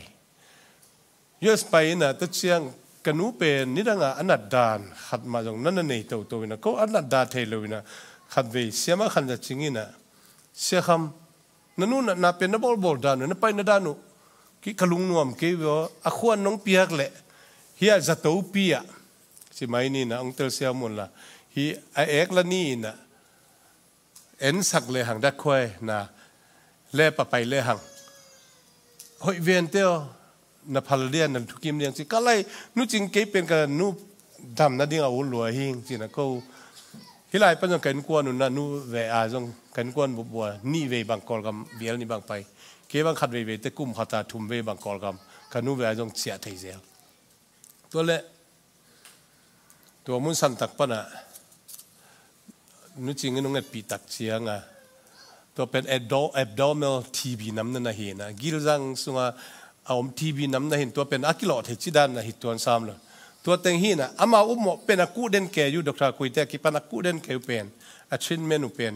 U S pai ina ta ciang ka nu pen nidanga a nat dan khat mah zong nana nei toto ina ko a nat dan thei lo ina khat vei siama khan za cing ina sia kham na nu na pen na bawlbawl dan uh na pai na dan uh ki ka lungnuam kei vio a khuan nong piak leh hia zato pi ah ci mai ni na ong tel sia mun la hi a ek la ni ina ensak le hang dak khuai na le papai le hang hoih vente aw na phal lian na thukim liang ci ka lai nu cing kei pen ka nu dam na ding a ul lua hing ci na ko. Hi lai pan zong ka innkuan un na nu ve a zong ka innkuan bubua nih vei bang Kawlgam vial nih bang pai kei bang khat vei vei te kum khata thum vei bang Kawlgam ka nu ve a zong ciah thei zel. Tua le tua mun santak pana nu cing in ung etpih tak cianga tua pen abdo- abdominal T B nam na na hina gilzang sunga a om T B nam na hin tua pen a kilawh thei ci dan na hi tuan sam lo. Tua teng hina ama upmawh pen a kuh den kei uh Doctor Kuite a kipan a kuh den kei uh pen a treatment uh pen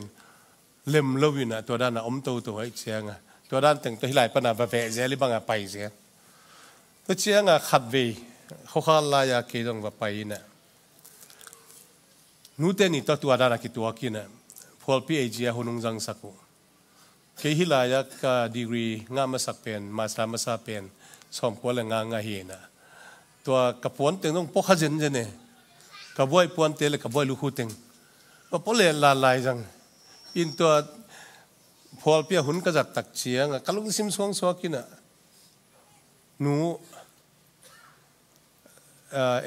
lem lo ina tua dana om toto hai cianga tua dan teng tua hi lai pana va veh zel i banga pai zel. Tua cianga khat vei khuakhal laia kei zong va pai ina nute ni tua tua dana kituak ina phualpi A G a hun ung zangsak uh. Kei hi laia ka degree ngah masak pen master masa pen sawmkua le nga nga hi ina tua ka puan teng zong pawkha zenzen e ka buai puante le ka buai lukhu teng ka pawh le lalai zang in tua phualpi a hun ka zat tak cianga ka lungsim suangsuak ina nu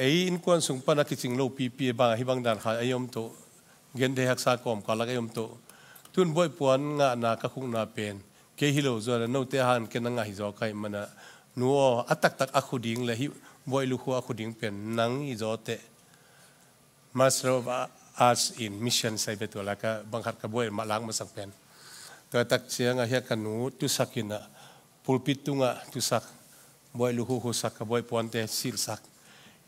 ei innkuan sung pana kicing lo pipi bang hi bang dan kha ei om to gen thei haksa kawm ka lak ei om to tun buai puan ngahna ka khukna pen kei hi lo zuan note han ken a ngah hi zaw ka hi mana nu aw a taktak a khu ding le hi buai lukhu a khu ding pen nang hi zaw teh. Master of Arts in Mission sai ve tua laka bang khat ka buai mah lang masak pen. Tua tak cianga hia ka nu tusak ina pulpit tunga tusak buai lukhu khusak ka buai puante silsak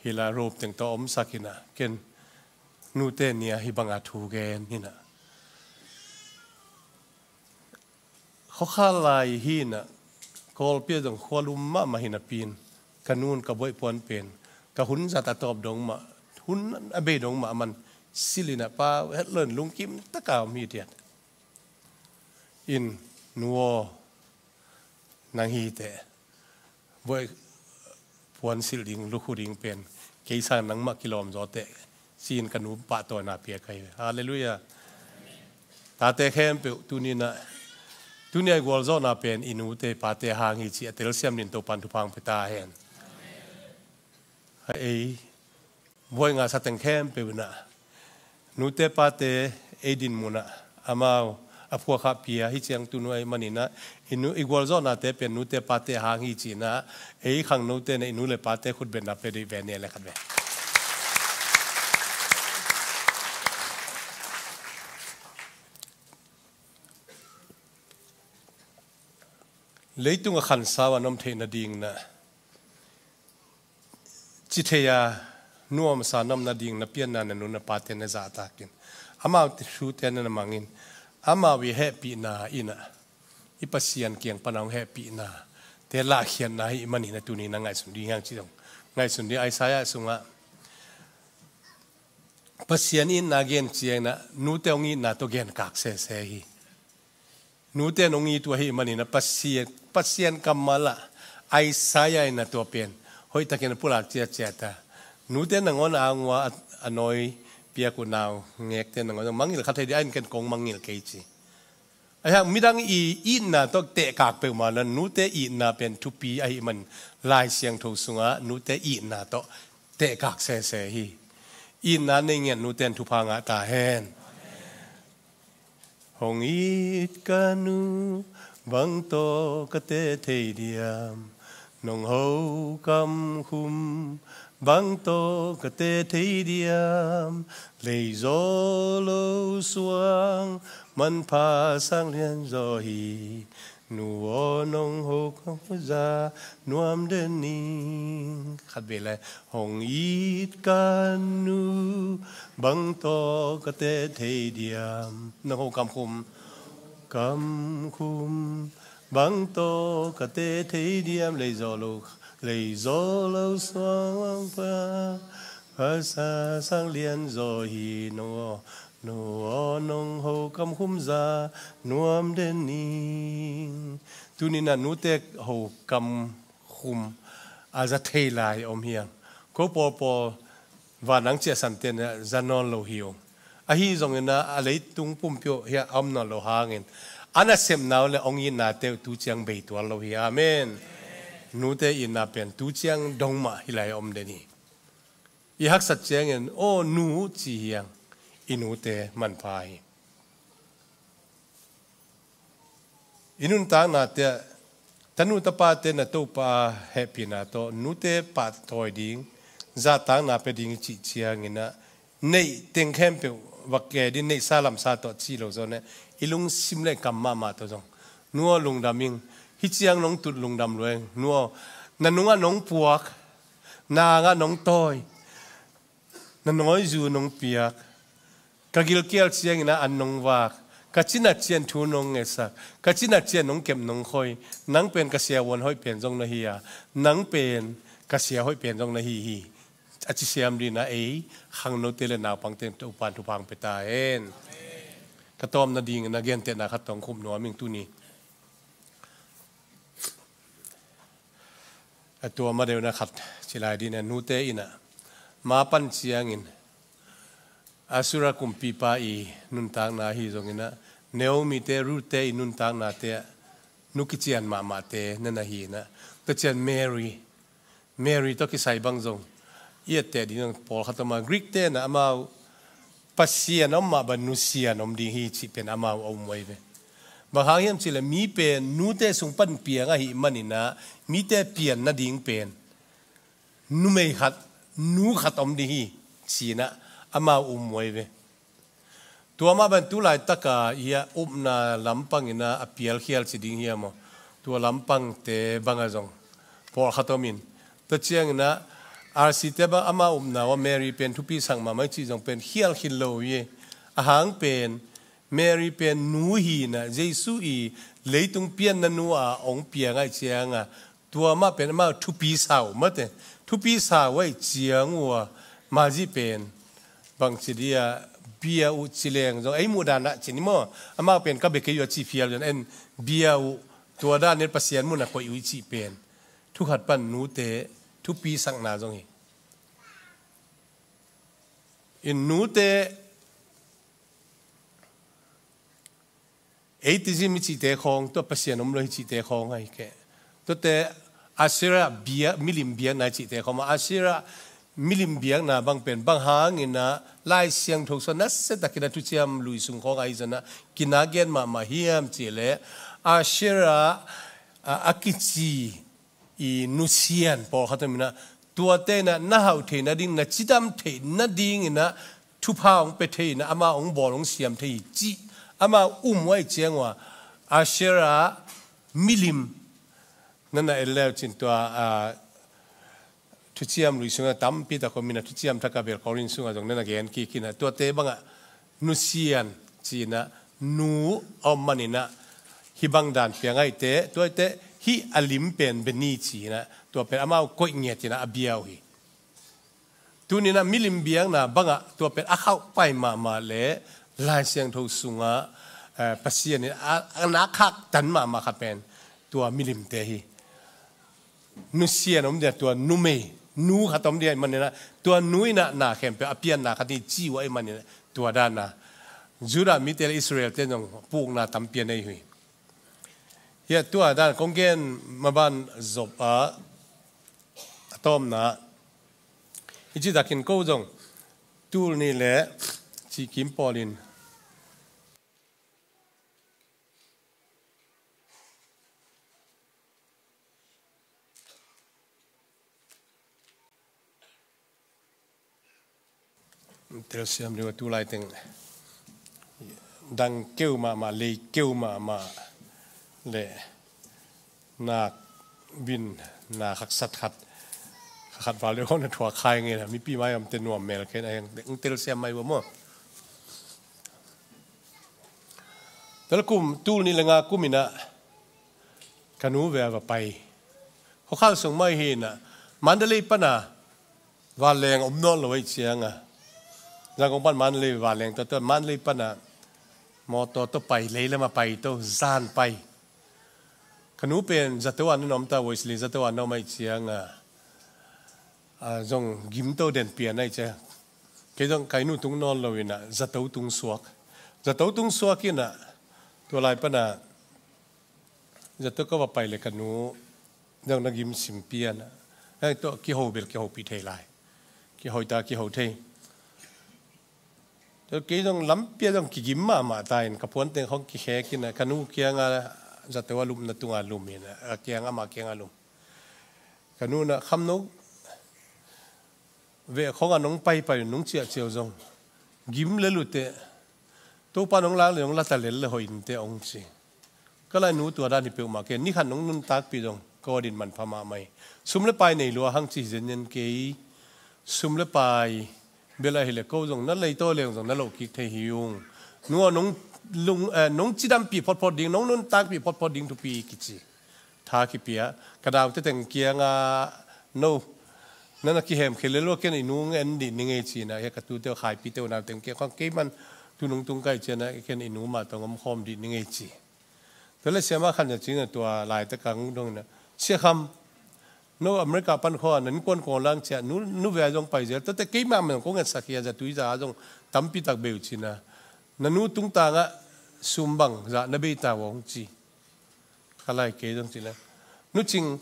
hila rope teng tawh omsak ina ken nute nia hi banga thu gen hina. Khuakha lai hi na Kawlpi ah zong khualum mahmah hi napi in ka nun ka buaih puan pen ka hun zat a tawp dong mah hun a bei dong mah a man silh in a pa het lo in lungkim taka om hi tiat. In Nu aw, nang hi teh, buai puan silh ding, lukhu ding pen kei sang nangmah kilawm zaw teh, ci-in ka nu pahtawina pia ka hi. Halleluiah. Tate khempeuh tuni-in ah, tuni-a i gualzawhna pen i nute pate hang hi ci a telsiam dingin Topan thupha hong pia ta hen. Ei buaina sa teng khempeuh in ah, nute pate ei din mun ah amau a phuakha pia hi ciang tunu ahih manin ah, i nu, i gualzawhnate pen nute pate hang hi ci-in ah, ei khangnote in ah i nu le pate khutbetna pia dih ve, nih le khat ve. Leitung a khansau a na om theih nadingin ah, ci thei a nuamsa na om nading na pianna na nu na pate na zahtak in, amau thute na na mang in, amau i hehpihna in ah, i Pasian kiang pan a hong hehpihna te lahkhiatna hi manin ah, tuni na ngaihsun ding hi hang ci dong. Ngaihsun ding, Isaiah sungah Pasian itna gen ciangin ah, nute hong itna tawh genkak sese hi. Nute in hong it uh ahih manin ah, Pasian, Pasian kammal ah Isaiah in ah tua pen hoihtakin a pulak ciatciat a, nute nangawn a ang ua a, a nawi piak uh naungekte nangawn mangngilh kha thei dih, a in ken kong mangngilh kei ci. Ahi hang midang i itna tawh tehkak peuhmah lo, nute itna pen thupi ahih man, Lai Siangtho sungah nute itna tawh tehkak sese hi. Itna nei ngiat nute in thupha ngah ta hen. Hong it ka nu, bang tawh ka teh thei diam? Nong ho kam khum, bang tawh ka teh thei diam? Lei zaw lo suang, manpha sang lian zaw hi. Nu aw, nong ho kam khum za nuam den ing. Khat vei lai. Hong it ka nu, bang tawh ka teh thei diam? Nong ho kam khum. Kam khum, bang tawh ka teh thei diam? Lei zaw lo, lei zaw lo suang, manpha sang lian zaw hi. Nu aw, nu aw, nong ho kam khum za nuam den ing. Tuni-in ah nute ho kam khum a za thei lai om hi hang. Ko pawlpawl, van ang ciahsante in ah za nawn lo hi ung. Ahi zongin ah, a leitung pumpi uh hiah a om nawn lo hangin, a nasepna uh le hong itnate uh tu ciang bei tuan lo hi. Amen. Nute itna pen tu ciang dong mah hi lai om den hi. I haksat ciangin, "Aw nu," ci hi hang. I nute manpha hi. I nuntaknate ah, tanu tapate in ah Topa hehpihna tawh nute pahtawi ding, zahtakna pia ding i cih ciangin ah, neih teng khempeuh va ke ding, neihsa lamsa tawh ci lo zaw in ah, i lungsim le kam mahmah tawh zong, "Nu aw, lungdam ing, hih ciang nong tut lungdam lua ing. Nu aw, na nungah nong puak, na angah nong tawi, na nawizu nong piak, ka gilkial ciangin ah an nong vak, ka cina ciang thu nong ngetsak, ka cina ciang nong kep nong khoi, nang pen ka siavuan hoih pen zong na hi a, nang pen ka sia hoih pen zong na hi hi," a ci siam dingin ah, ei khangnote le naupangte in Topan thupha hong pia ta hen. Ka tawpna dingin ah gentehna khat tawh kong khum nuam ing tuni. A tua ma deuh na khat ci lai ding ah, nute in ah, ma pan ciangin, Asura kumpipa i nuntakna hi zongin ah, Naomi-te, Ruth-te i nuntaknate ah, nu kician mahmahte na na hi in ah, tua ciang Mary, Mary tawh kisai bang zong i etteh ding zong pawlkhat om a, Greek-te in ah amau Pasian om mah bang nusia in om ding hi cih pen amau a um uh ahi ve. Bang hang hiam cih leh mi pen nute sung pan piang ahih manin ah, mite pian nading pen numei khat, nu khat om ding hi ci-in ah amau um uh ahi ve. Tua mah bang tu laitak a hiah upna lampang in ah a pial khial ci ding hiam aw, tua lampangte bang ah zong pawlkhat om in, tua ciangin ah R C-te bang amau upna uh ah Mary pen thupi sak mahmah hi cih zong pen khial khin lo hi. A hang pen Mary pen nu hi in ah, Jesu i leitung pianna nu a hong piang ahih ciang a, tua mah pen amau thupi sa uh mate. Thupi sa uh ahih ciang uh a, Mary pen bangci dia bia uh ci leng zong, ei muhdan ah ci ni maw, amau pen ka bia kei uh a ci phial zong, en bia uh, tua dan in Pasian mun a koih uh i cih pen thukhat pan nute thupi sakna zong hi. In nute atheism i cihte khawng, tua Pasian om lo hi cihte khawng ahi kei. Tuate Asherah bia, milim biakna i cihte khawng, Asherah milim biakna bang pen bang hangin ah Lai Siangtho sung ah nasia takin ah Thuciam Lui sung khawng ahi zongin ah kina gen mahmah hiam cih leh, Asherah a, a kici i nusian pawlkhat om in ah, tuate in ah na hauh theih nading, na cidam theih nadingin ah thupha hong pia thei in ah, amah hong bawl hong siam thei hi cih amah um uh ahih ciang ua, Asherah milim na na en le uh cin tua, a, Thuciam Lui sungah tampi tak om in ah, Thuciam Thak ah bel Korin sungah zong na na gen kik in ah, tuate bangah nusian ci in ah nu a om manin ah hih bang dan piang ahih teh, tua ahih teh hih a lim pen beni ci in ah, tua pen amau koih ngiat in ah a bia uh hi. Tuni in ah milim biakna bangah tua pen a khauh pai mahmah leh Lai Siangtho sungah, eh, Pasian in a, a na khaktan mahmah khat pen tua milimte hi. Nusian om dia, tua numei, nu khat om dia ahih manin ah, tua nu in ah na khempeuh a pianna khat hi ci uh ahih manin ah, tua dan a Judah mite leh Israel-te zong pukna tampi a nei uh hi. Hiah tua dan kong gen maban zop a, a tawpna, hih ci takin ko zong tul nih leh cih kim pawl in telsiam ding uh a, tu laiteng dang keu mahmah, lei keu mahmah leh nak vin, nak haksat khat, khat val deuh hong na thuak khai nge na, mipi mai omte nuam mel kei na, hong telsiam mai uh a maw. Tel kum, tul nih leh nga kum in ah ka nu ve a va pai. Khuakhal sung mah hi in ah, Mandalay pan a vanleng om nawn lo ahih ciang a, Zangkong pan Mandalay vanleng tawh, tawh Mandalay pan a mawtaw tawh pai, lei lam a pai tawh, zan pai. Ka nu pen zato a na om ta, Wesley zato a na om ahih ciang a, a, zong gim to den pian ahih ciang, kei zong ka inn uh tung nawn lo in ah zato tung suak. Zato tung suak in ah, tua lai pan a zato ka va pai leh ka nu zong na gim sim pian a, heng tawh kiho bel kihopih thei lai. Kiho ta, kiho thei. Tua kei zong lampi ah zong kigim mahmah ta in, ka puanteng khawng kikhek in ah, ka nu kiang a zato a lupna tung a lum in ah, a kiang, amah kiang a lum. Ka nu in ah, Kham, no veh khawng a nong paipai uh, nong ciahciah uh zong gim lel uh teh, Topa nong lak leh nong la ta lel leh hoih in teh, hong ci. Ka la, nu, tua dan hi peuhmah kei, ni khat nong nuntakpih zong ka aw din manpha mahmah hi. Sum leh pai nei lua hang ci hi zenzen kei. Sum leh pai bel ahih leh ko zong na leitaw leng zong na loh kik thei hi ung. Nu aw, nong lung, eh, nong cidampih photphot ding, nong nuntakpih photphot ding thupi hi, kici. Tha kipia. Ka naute teng kiang a, no, na na kihemkhia lel uh a, ken i nu hong en dih ning ei, ci in ah, hia ka tute uh, Khaipite uh nauteng kiang khawng, kei man tu nung tung ka hih ciang a, ken i nu mah tawh hong om khawm dih ning ei, ci. Tua leh siamah khat in ah, ci in ah, tua laitak a hong dong in ah, Sia Kham, no America pan khawng a na innkuan kong lang ciah, nu, nu ve a zong pai zel. Tuate keimah mah zong kong etsak hi a, zatui za a zong tampi tak bei uh, ci in ah, na nu tungtang ah sum bangzah na bei ta uh, hong ci. Ka la, kei zong ci leng, Nu Cing,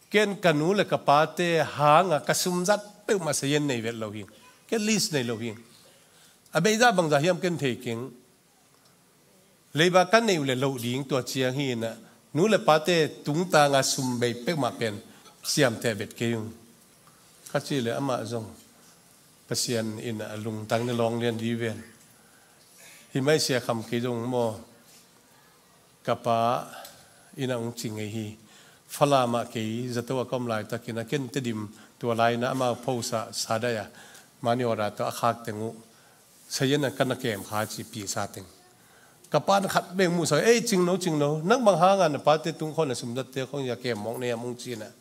ken ka nu leh ka pate hang a ka sum zat peuhmah sazian nei vet lo hing. Ken list nei lo hing. A beizah bangzah hiam ken thei keng. Leiba ka neih uh leh loh ding, tua ciang hi in ah, nu leh pate tungtang a sum bei peuhmah pen ciamteh vet kei ung, ka cih leh amah zong Pasian in a lungtang in a lawng lian dih ven. Hi mai, Sia Kham, kei zong maw, ka pa in ah hong ci ngei hi. Falam ah kei zato a ka om laitak in ah, ken Tedim, tua lai in ah amau post ah, Sadaih ah, money order tawh a khak teng uh, sazian a ka na kem kha, ci, pisa teng. Ka pa in khat bek muhsak, ei, Cing, no Cing, no, nang bang hang a na pate tung khawng a sum zatte khawng a kem mawk na hiam, hong ci in ah,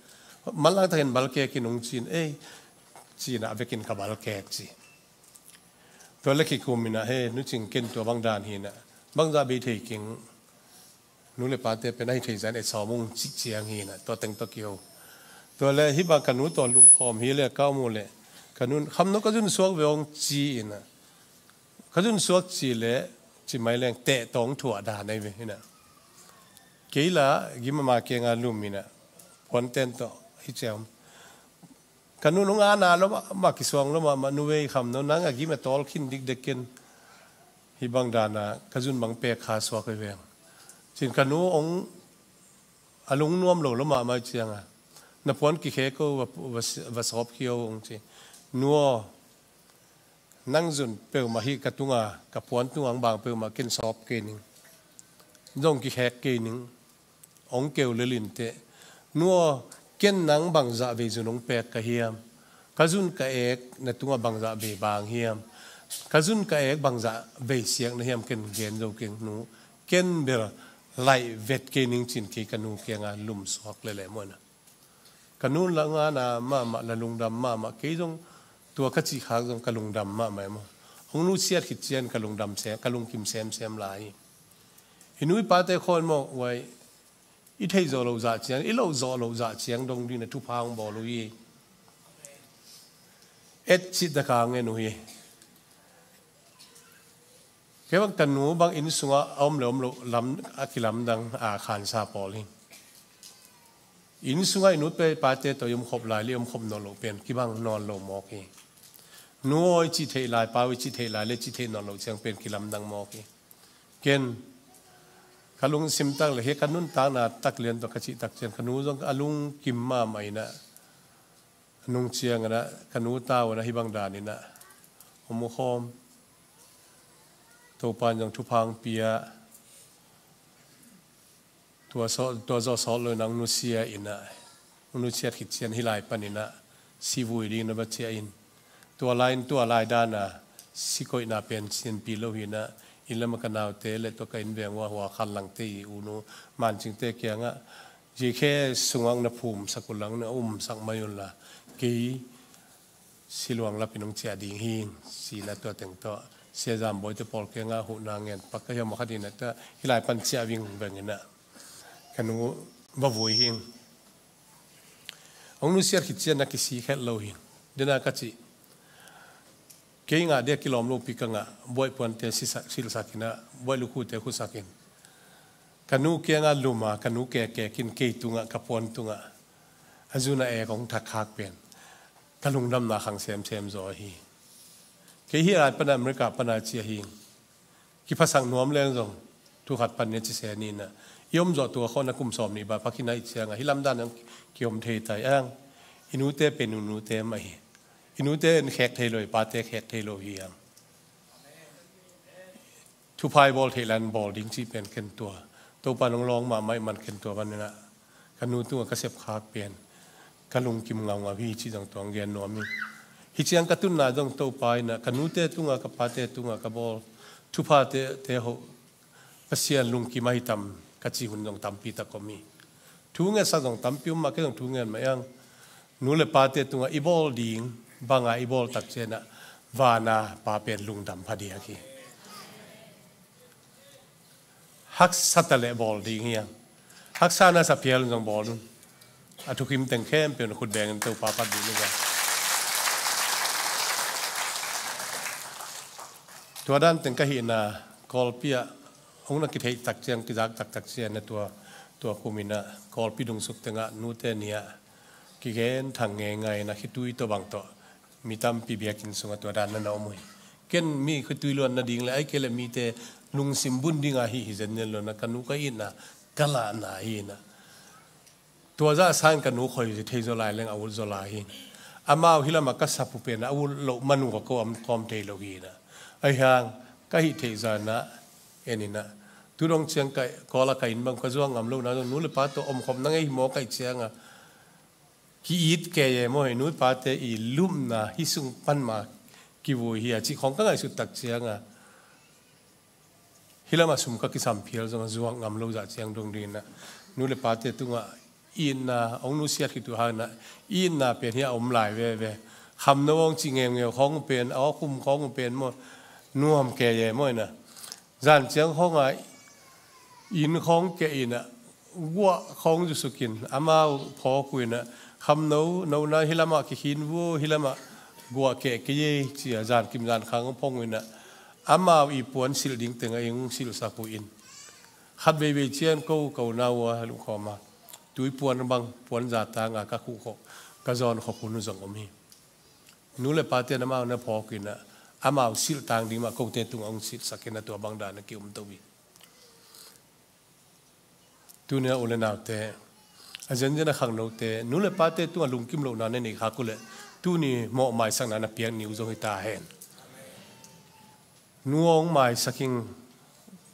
manlang takin balkek in, hong ci in, ei, ci in ah, a vekin ka balkek, ci. Tua leh kikum in ah, he, Nu Cing, ken tua bang dan hi in ah, bangzah bei thei keng. Nu le pate pen ahi thei zan et sawm ung cih ciang hi inah tua teng tawh kiho. Tua le hih bang ka nu tawh lumkhawm hi le ka om uh le ka nu kham no ka zun suak ve ung ci inah ka zun suak ci le ci mai leng teh tawng thuah dan ahi ve inah. Kei la gim ama kianga lum inah puanten tawh hi ciam. Ka nu nung ana lo mah, mah kisuang lo mah, mah nu vei kham no nang a gim a tawl khin dikdek ken. Hih bang dana ka zun bang pek kha suak hi veng. Cin ka nu ong a lungnuam lo lo mah mai cianga na puan kikhek ko va, va, va sawp khia ung ci. Nu aw, nang zun peuhmah hih ka tunga ka puan tunga ang bang peuhmah ken sawp kei ning. Zong kikhek kei ning. Ong keu lelin teh. Nu aw, ken nang bangzah vei zun ong pek ka hiam? Ka zun ka ek na tungah bangzah vei bang hiam? Ka zun ka ek bangzah vei siak na hiam ken gen zo keng nu. Ken bel laih vet kei ning cin kei ka nu kianga lum suak lele mawina. Ka nu la ngana mahmah la lungdam mahmah kei zong tua ka cih khak zong ka lungdam mahmah e maw. Ong nusiat khit cian ka lungdam sem, ka lungkim semsem lai hi. I nu i pate khawn maw uai i thei zawh loh zah ciang, i loh zawh loh zah ciang dong ding na thupha hong bawl uh hi. Et cih taka ngen uh hi. Kei bang ka nu bang inn sungah a om le om loh lam a kilamdang a khansa pawl hi. Inn sungah i nu pe pate tawh i om khop lai le i om khop nawn loh pen kibang nawn lo mawk hi. Nu aw i cih theih lai, pa aw i cih theih lai le cih theih nawn loh ciang pen kilamdang mawk hi. Ken ka lungsim tak le hi ka nuntakna tak lian tawh ka cih tak cian ka nu zong a lungkim mahmah inah nung ciang inah ka nu tau inah hih bang dan inah om uh khawm. Topa in zong thupha hong pia. Tua zawh, tua zawh sawt lo inah hong nusia inah hong nusiat khit cian hih lai pan inah si vui ding na va ciah in. Tua lai in tua lai dana si koihna pen sianpi lo hi inah inn lam a ka naute le tua ka inn veng uh a hua khan langte i u nu mancingte kiangah zikhe sungah na phumsak uh lang na umsak mai unla kei siluang lapin hong ciah ding hi. Sina tua teng tawh Sia Zam Bawi te pawl kiangah huhna ngen pak ka hiam a khat inah ta hih lai pan ciah ving veng inah ka nu va vui hi. Hong nusiat khit cian na kisi khet lo hi. Dena ka cih kei ngah dia kilawm lo pi ka ngah buaih puante silsak inah buaih lukhute khusak in ka nu kiangah luma ka nu kekek in kei tungah ka puan tungah a zuna ek hong thak khak pen ka lungdamna khang semsem zaw ahi. Kei hi ai pana America pana ci ahi. Kiphasak nuam leng zong thu khat pan nia ci se ni inah i om zawh tua khawh na kum sawm nih bah pakhin a i cianga hi lamdan ang kiom thei tai ang. I nute pen i nute mah hi. I nute in khek thei lo i pate khek thei lo hi ang. Thupha i bawl theih lan bawl ding cih pen ken tua Topa nong lawng mahmah i man ken tua van inah ka nu tungah ka sepkhak pen ka lungkim ngaungau hi cih zong tuang gen nuam hi. Hi ciang ka tunna zong Topa inah ka nute tungah ka pate tungah ka bawl thuphate te hoh Pasian lungkim ahi tam ka cih hun zong tampi tak om hi. Thu ngetsak zong tampi um mah kei zong thu ngen mah iang nu le pate tungah i bawl ding banga i bawl tak cianah vana pa pen lungdam phadiak hi. Haksa ta le bawl ding hiang haksa na sa phial zong bawl un. A thukim teng khempeuh na khut bengin Topa phat dih ni ga. Tua dan teng ka hihna Kawlpi ah hong na kitheih tak ciang kizak taktak ciang na tua tua kuminah Kawlpi dungsuk tengah nute ni ah kigen thang ngeingai na khitui tawh bang tawh mi tampi biakinn sungah tua dan na na om uh hi. Ken mi khitui luan nading le ai kei le mite lungsim bun dinga hih hi zen nen lo na ka nu ka itna ka lahna hi na. Tua zah sain ka nu khoi thei zaw lai leng a ut zaw lai hi. Amau hi lamah ka sapu pen a ut loh manu ka ko am kawm thei lo hi na. Ai hang ka hih theih zana en ina. Tudong ciang ka Kawla ka inn bang ka zuak ngam lo na nu le pa tawh omkhop na ngei hi maw kaih cianga ki-it kei e maw hi nu le pate i lupna hi sung pan ma kivui hi a cih khawng ka ngaihsut tak cianga. Hi lamah sum ka kisam phial zong a zuak ngam lo zah ciang dong dingin ah nu le pate tungah itna hong nusiat khit uh hangin ah itna pen hi a om lai veve. Kham no hong cih ngeungeu khawng uh pen a awkhum khawng uh pen maw nuam kei e maw ina. Zan ciang khawngah Inn khawng keh in ah, guah khawng zusukin amau phawk uh in ah, khamno, nona hi lamah kikhin vua, hi lamah guah keh kei ei ci-a zankim zankhang phong uh in ah, amau i puan silh ding tengah eng silhsak uh in, khat veivei ciang ko, ko na uh a lungkhawm a, tui puan bang puan za tanga ka khuh khawh, ka zawn khawh hun uh zong om hi. Nu le pate in amau na phawk uh in ah, amau silh tang ding mah kote tungah hong silhsak in ah, tua bang dan a ki-um to hi. Tuni a u le naute, a zenzen a khangnote, nu le pate tungah lungkim lohna na nei khak uh leh, tuni mawh maisakna na piak ni uh zong hi ta hen. Nu aw hong maisak ing,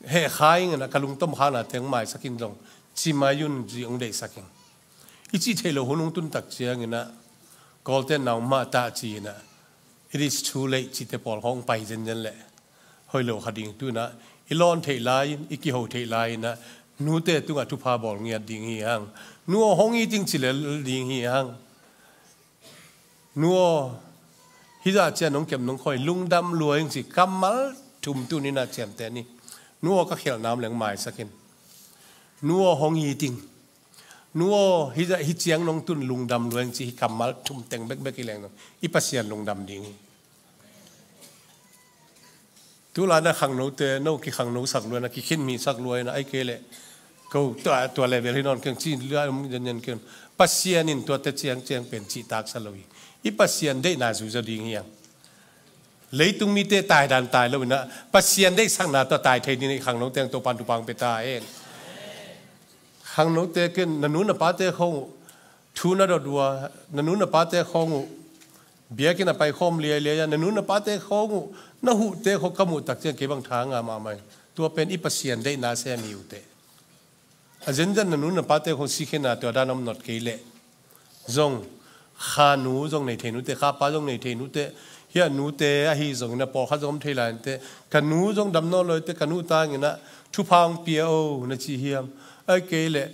heh kha ing in ah, ka lungtom khaknate hong maisak in zong ci mai un ci hong deihsak ing. I cih theih loh hun hong tun tak ciangin ah, Kawlte'n na om mah ta ci in ah, it is too late cihte pawl khawng pai zenzen leh hoih lo kha ding. Tu in ah i lawn theih lai-in, i kiho theih lai-in ah, nute tungah thupha bawl ngiat ding hi hang. Nu aw hong it ing ci lel ding hi hang. Nu aw, hih zah ciang nong kem nong khoi, lungdam lua ing ci kammal thum tuni in ah ciamteh ni. Nu aw ka khialhna om leng maisak in. Nu aw hong it ing. Nu aw, hih zah, hih ciang nong tun lungdam lua ing ci, hih kammal thum teng bekbek hi leng dong, i Pasian lungdam ding hi. Tulai na khangnote, no kikhangnosak lua in ah, kikhinmisak lua in ah, ahih kei leh ko tua, tua level hi nawn keng ci lai om zenzen keng. Pasian in tuate ciangciang pen cihtaksa lo hi. I Pasian deihna zuizaw ding hi hang. Leitung mite taidan tai lo in ah, Pasian deihsakna tawh tai thei ding in ah, i khangnote teng Topa'n thupha hong pia ta hen. Khangnote ken, na nu na pate khawng uh thu na dot uh a, na nu na pate khawng uh biakinn ah paikhawm liailiai a, na nu na pate khawng uh na huhte khawng ka muh tak ciang kei bang tha nga mahmah hi. Tua pen i Pasian deihna sem hi uh teh. A zenzen na nu na pate khawng sikhena tua dan om nawn kei leh zong, kha nu zong nei thei nute, kha pa zong nei thei nute, hih a nute ahi zongin ah pawlkhat zong om thei lai inteh, ka nu zong dam nawn lo inteh, ka nu tangin ah thupha hong pia o na ci hiam? Ahih kei leh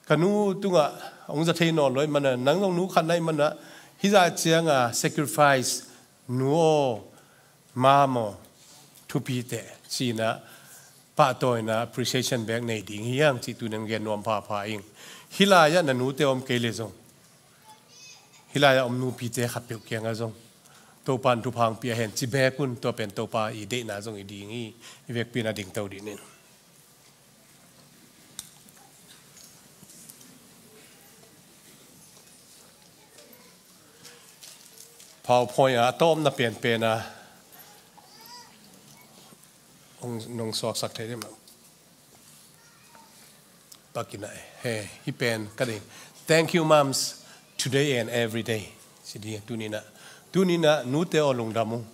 ka nu tungah hong za thei nawn lo ahih manin ah, nang zong nu khat na hih manin ah, hih zah ciang a sacrifice, nu aw, mom aw, thupi teh ci in ah pahtawina, appreciation bek nei ding hi hang cih tuni in gen nuam phapha ing. Hih lai-ah na nute om kei leh zong, hih lai-ah om nupite khatpeuh kiangah zong Topa'n thupha hong pia hen ci bek un. Tua pen Topa i deihna zong hi ding hi. I vekpi in ah dingto dih ni. PowerPoint ah a tawpna penpen ah hong, nong suaksak thei dih mah. Pakin ah, he, hih pen ka ding. Thank you, moms, today and every day. Ci dih, tuni in ah. Tuni in ah, nute aw lungdam ung.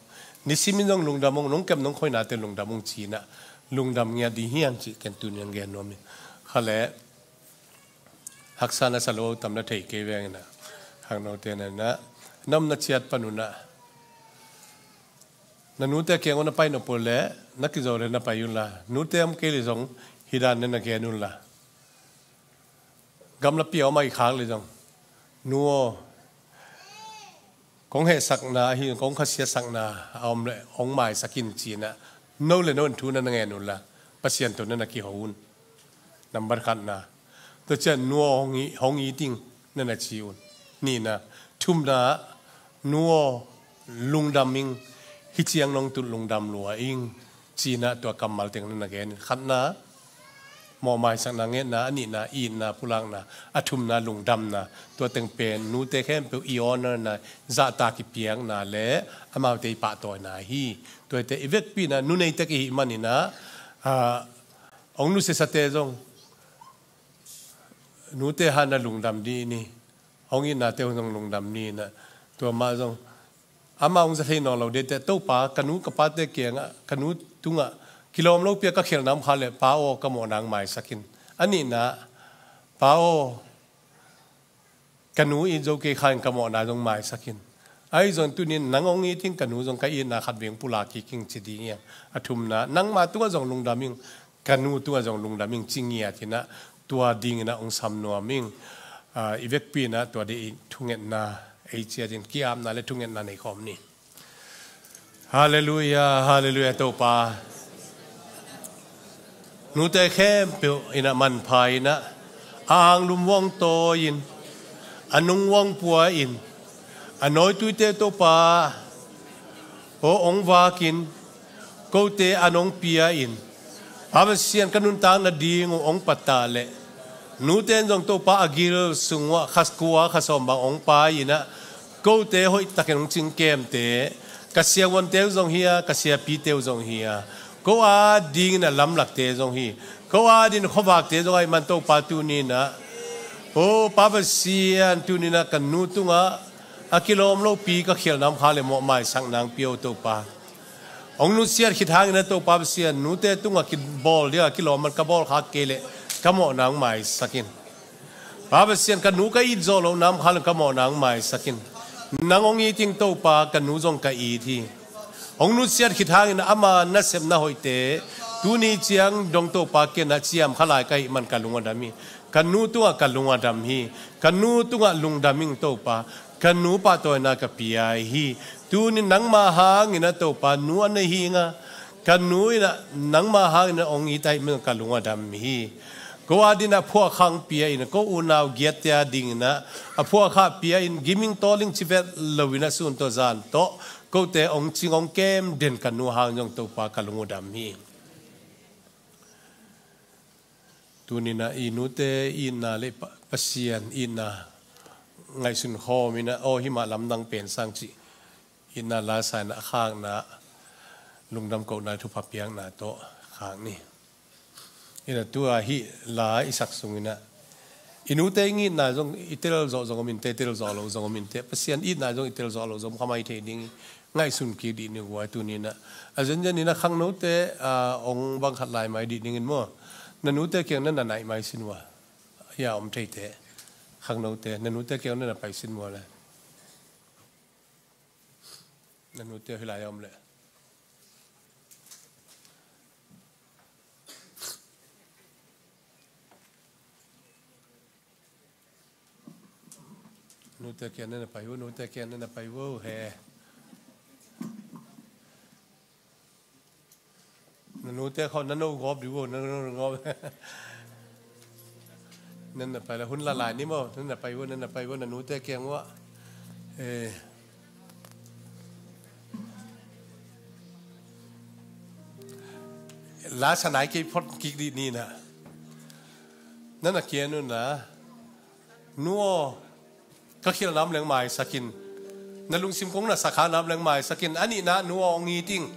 Nisimin zong lungdam ung, nong kem nong khoinate lungdam ung ci in ah, lungdam ngiat ding hi hang cih ken tuni in gen nuam ing. Kha leh, haksa na sa lo tam na thei kei veng in ah, khangnote na in ah, na omna ciat pan un ah, na nute kiang un na pai nop uh leh, na kizo leh na pai un la, nute om kei leh zong hih dan na na gen un la. Gamlapi a om ahih khak leh zong, nu aw, kong hehsakna ahi, kong khasiatsakna a om leh hong maisak in ci in ah, no le no in thu na na ngen un la, Pasian tawh na na kiho un. Nambat khatna, tua ciang nu aw hong it, hong it ing na na ci un. Nihna, thumna, nu aw lungdam ing, hih ciang nong tun lungdam lua ing ci in ah tua kammal teng na na gen in. Khatna, mawh maisakna ngetna, a nihna, itna, pulakna, a thumna, lungdamna, tua teng pen nute khempeuh i honourna, zahtak i piakna le amaute i pahtawina hi. Tuate i vekpi in ah, nu nei tek i hih manin ah, ah, hong nusiasate zong, nute hang na lungdam dih ni. Hong itnate hong zong lungdam ni in ah. Tua mah zong, amau hong za thei nawn lo ding inteh, Topa, ka nu ka pate kiangah, ka nu tungah kilawm lopi a ka khialhna om kha leh, Pa aw, ka mawhna hong maisak in. A nihna, Pa aw, ka nu it zo kei kha in, ka mawhna zong maisak in. Ahi zongin tuni in nang hong it ing, ka nu zong ka itna khat vei hong pulak kik ing ci ding hi hang. A thumna, nangma tungah zong lungdam ing, ka nu tungah zong lungdam ing ci ngiat in ah, tua ding in ah hong sam nuam ing. Ah, i vekpi in ah tua ding thungetna ei ciat in, ki-apna le thungetna nei khawm ni. Halleluiah, halleluiah, Topa. Nute khempeuh in a manpha in a, a anglum hong tawi-in, a nung hong pua-in, a nawituite Topa aw hong vakin, kote an hong pia-in, Pa Pasian ka nuntak nading uh hong pattah leh, nute in zong Topa a gil sung uh ah kha kua kha sawm bang hong pai-in a, kote hoihtakin hong cingkemte, ka siavuante uh zong hi a, ka siapite uh zong hi a, ko adingin a lamlakte zong hi, ko adingin khuavakte zong ahih man Topa tuni-in a, aw Pa Pasian, tuni-in a ka nu tungah a kilawm lopi ka khialhna om kha leh mawh maisak nang pia aw Topa. Hong nusiat khit hangin a Topa Pasian, nute tungah kibawl dingah kilawm man ka bawl khak kei leh ka mawhna hong maisak in. Pa Pasian, ka nu ka it zawh lohna om kha leh ka mawhna hong maisak in. Nang hong it ing Topa, ka nu zong ka it hi. Hong nusiat khit hangin ama nasepna hoihte tuni ciang dong Topa, ken a ciam kha lai ka hih man ka lung a dam hi. Ka nu tungah ka lung a dam hi. Ka nu tungah lungdam ing Topa. Ka nu pahtawina ka pia hi. Tuni nangma hangin a Topa, nu a nei hi ing a, ka nu in a nangma hangin a hong it ahih man ka lung a dam hi. Ko adingin a phuahkhak pia-in, ko unau giatte adingin a, a phuahkhak pia-in, giming tawling civet loin a sun tawh zan tawh kote hong cing hong kem den ka nu hangin zong Topa ka lung uh dam hi. Tuni-in a i nute itna leh Pa-, Pasian itna ngaihsun khawm in a, aw hih mah lamdang pen sang cih itna la sa-in a khakna, lungdam kohna, thupha piakna tawh khak ni. In a tua hih la i sak sungin a, i nute i itna zong i tel zawh zong om in teh, tel zawh loh zong om in teh, Pasian itna zong i tel zawh loh zong om kha mai thei ding hi. Ngaihsun kik dih ni uh a, tuni-in a, a zenzen in a khangnote, a, hong bang khat lai mai dih dingin maw. Na nute kiang na na naih mai sin uh a, hia om thei teh. Khangnote, na nute kiang na na pai sin uh a le. Na nute hih lai a om le. Nute kiang na na pai uh, nute kiang na na pai uh, he. Na nute khawng na no gawp dih uh, na no gawp. Na na pai la, hun la lai ni maw, na na pai uh, na na pai uh, na nute kiang uh a. Eh. La sa nai kei phot kik dih ni na. Na na kiang uh na. Nu aw, ka khialhna om leng maisak in. Na lungsim kong na sa khakna om leng maisak in. A nihna, nu aw hong it ing.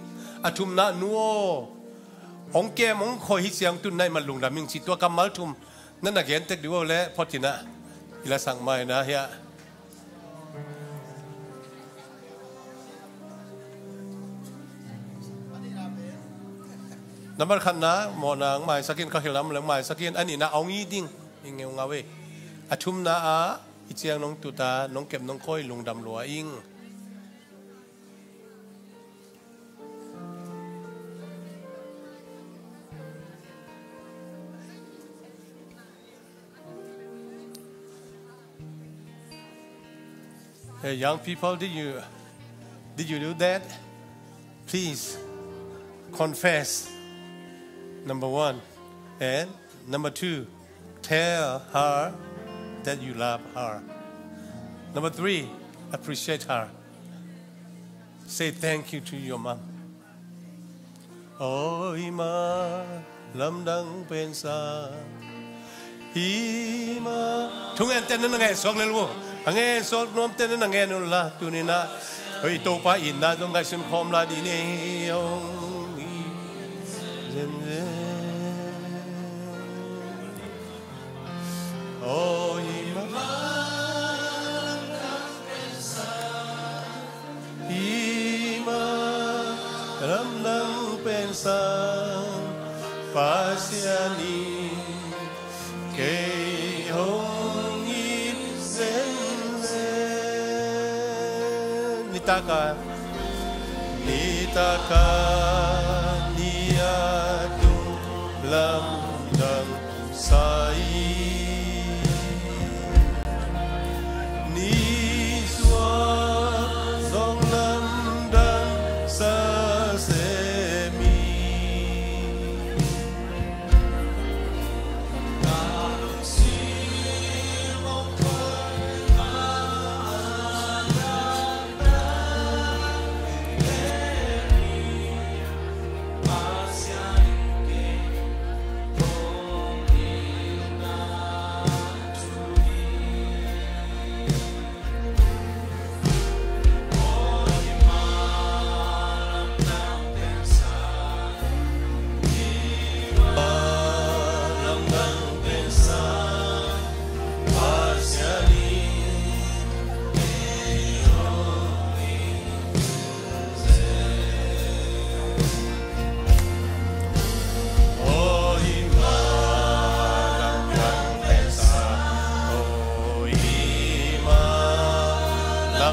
A thumna, nu aw hong kem hong khoi, hih ciang tun na hih man lungdam ing ci, tua kammal thum na na gen tek dih uh a le, phot in a. I la sak mai na hia. Nambat khatna, mawhna hong maisak in, ka khialhna om leng maisak in. A nihna, hong it ing. Ing ngeungau e. A thumna ah, hih ciang nong tut a, nong kem nong khoi, lungdam lua ing. Hey, young people, did you, did you do that? Please confess. Number one. And number two, tell her that you love her. Number three, appreciate her. Say thank you to your mom. Aw i ma, lamdang pen sa. I ma. Thungen ten na ngen suak lel uh. A ngen suak nuam ten na ngen uh la, tuni-in a. Hoi, Topa itna zong ngaihsun khawm lai dih ni. Hong i zen zen. Aw i ma. I ma, lamdang pen sa, Pasian in kei hong it zenzen. Nitak a, nitak a, ni a tung lamdang sa hi. Nisuah zong lamdang sa sem hi.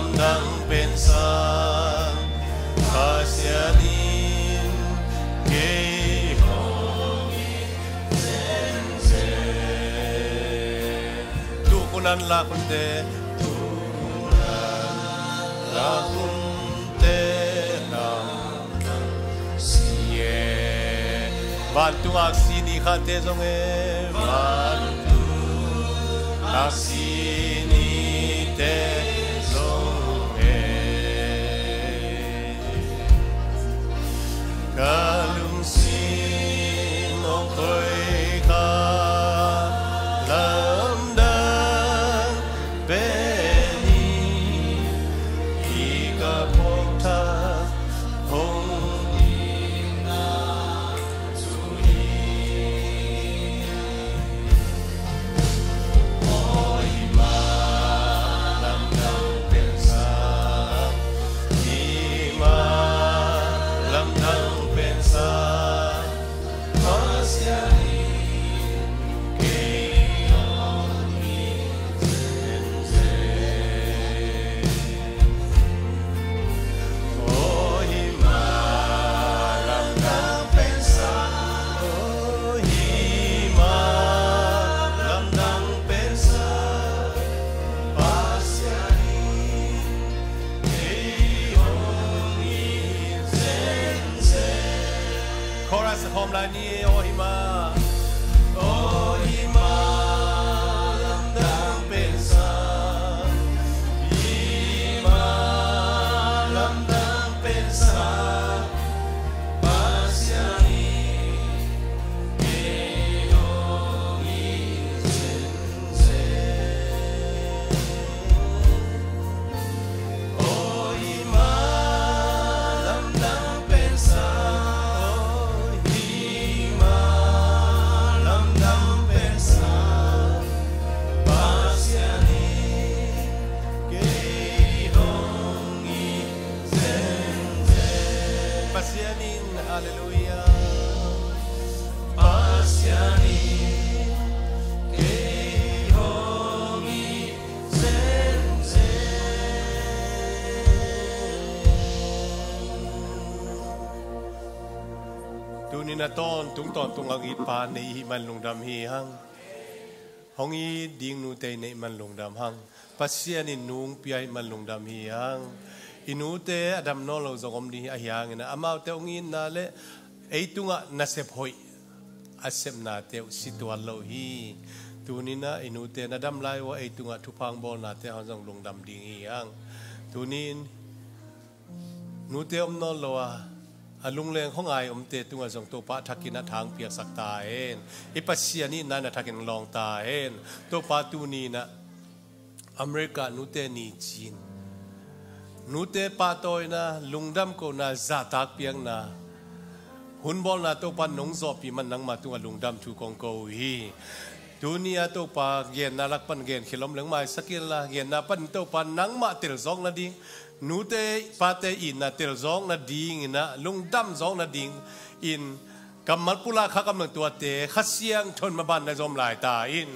Lamdang pensa Pasian in kei hong it zenzen. Tukunan lakunte, tukunan lakunte lamdang si e. Vantung aksi ni khate zong e, vantung aksi nite zong e. Ka lungsim hong khoika lamdang pen hi, hi ka phawk thak hong ding na. Chorus a khawm lai ni. O hima, o hima lamdang pensa, hima lamdang pensa Pasian in kei hong it zenzen. O hima lamdang pensa, o hima lamdang pensa Pasian in kei hong it zenzen. Pasian in, halleluiah. Pasian in kei hong it zenzen. Tunin a tawntung tawntung a hong it Pa nei i hih man lungdam hi hang. Hong it ding nute i neih man lungdam hang. Pasian in nu hong pia i hih man lungdam hi hang. I nute a dam nawn lo zong om ding hi, ahi hangin ah amaute hong itna le ei tungah nasep hoih a sepnate uh si tuan lo hi. Tunin ah i nute na dam lai uh a ei tungah thupha hong bawlnate hong zong lungdam ding hi hang. Tunin nute om nawn lo a, a lungleng hong ai omte tungah zong Topa a thakin a tha hong piaksak ta hen. I Pasian itna in a thakin lawng ta hen. Topa, tunin ah America nute ni cin, nute pahtawina, lungdam kohna, zahtak piakna, hun bawlna Topa nong zawhpih man nangmah tungah lungdam thu kong ko uh hi. Tuni a Topa, genna lak pan gen khia lom leng maisak inla, genna panin Topa nangmah telzawk nading, nute pate itna telzawk nadingin ah, lungdam zawk nadingin kammal pulak kha kam leng tuate Kha Siangtho in maban na zawm lai ta in.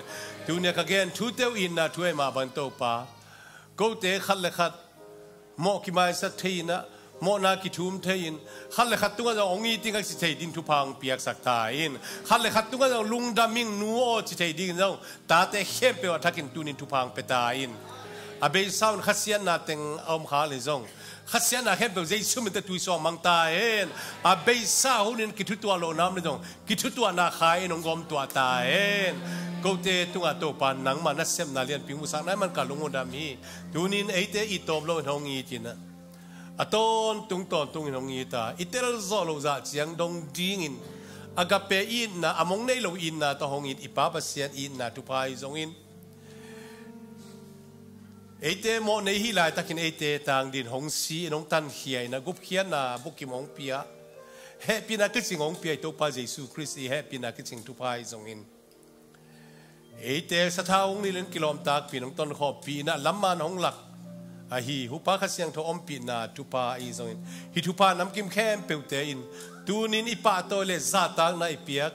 Tuni a ka gen thute uh itna thu ahih mah bang Topa, kote khat le khat mawh kimaisak thei in ah, mawhna kithum thei in, khat le khat tungah zong hong it ing a ci thei ding thupha hong piaksak ta in. Khat le khat tungah zong lungdam ing nu aw ci thei ding zong tate khempeuh a thakin tunin thupha hong pia ta in. A beisa un khasiatna teng a om kha le zong, khasiatna khempeuh Jesu min tawh tuisuak mang ta hen. A beisa hunin kithutuah lohna om le zong, kithutuahna khai in hong gawmtuah ta hen. Kote tungah Topa nangmah nasepna lianpi hong musak na hih man ka lung uh dam hi. Tunin eite it tawp loin hong it in ah, a tawntung tawntungin hong it a, i telzawh loh zah ciang dong dingin, agape itna, a mong nei lo itna tawh hong it i Pa Pasian itna thupha ahi zongin, eite mawh nei hi laitakin eite tang dingin hong si in, hong tankhia in ah, gupkhiatna bukim hong pia, hehpihna kicing hong pia i Topa Jesu Khrist i hehpihna kicing thupha ahi zongin, eite sathau hong nilhin kilawmtakpih in hong tonkhawmpih in ah, lamman hong lak ahi Hupa Kha Siangtho ompihna thupha ahi zongin, hih thupha namkim khempeuhte in tunin i pahtawi le zahtakna i piak,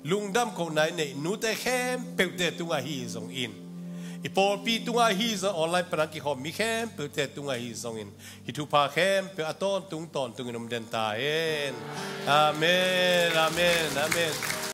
lungdam kohna i neih nute khempeuhte tungah ahi zongin, I pawlpi tungah hi zong, online pan a kikhawm mi khempeuhte tungah hi zongin, hih thupha khempeuh a tawntung tawntungin om den ta hen. Amen, amen, amen.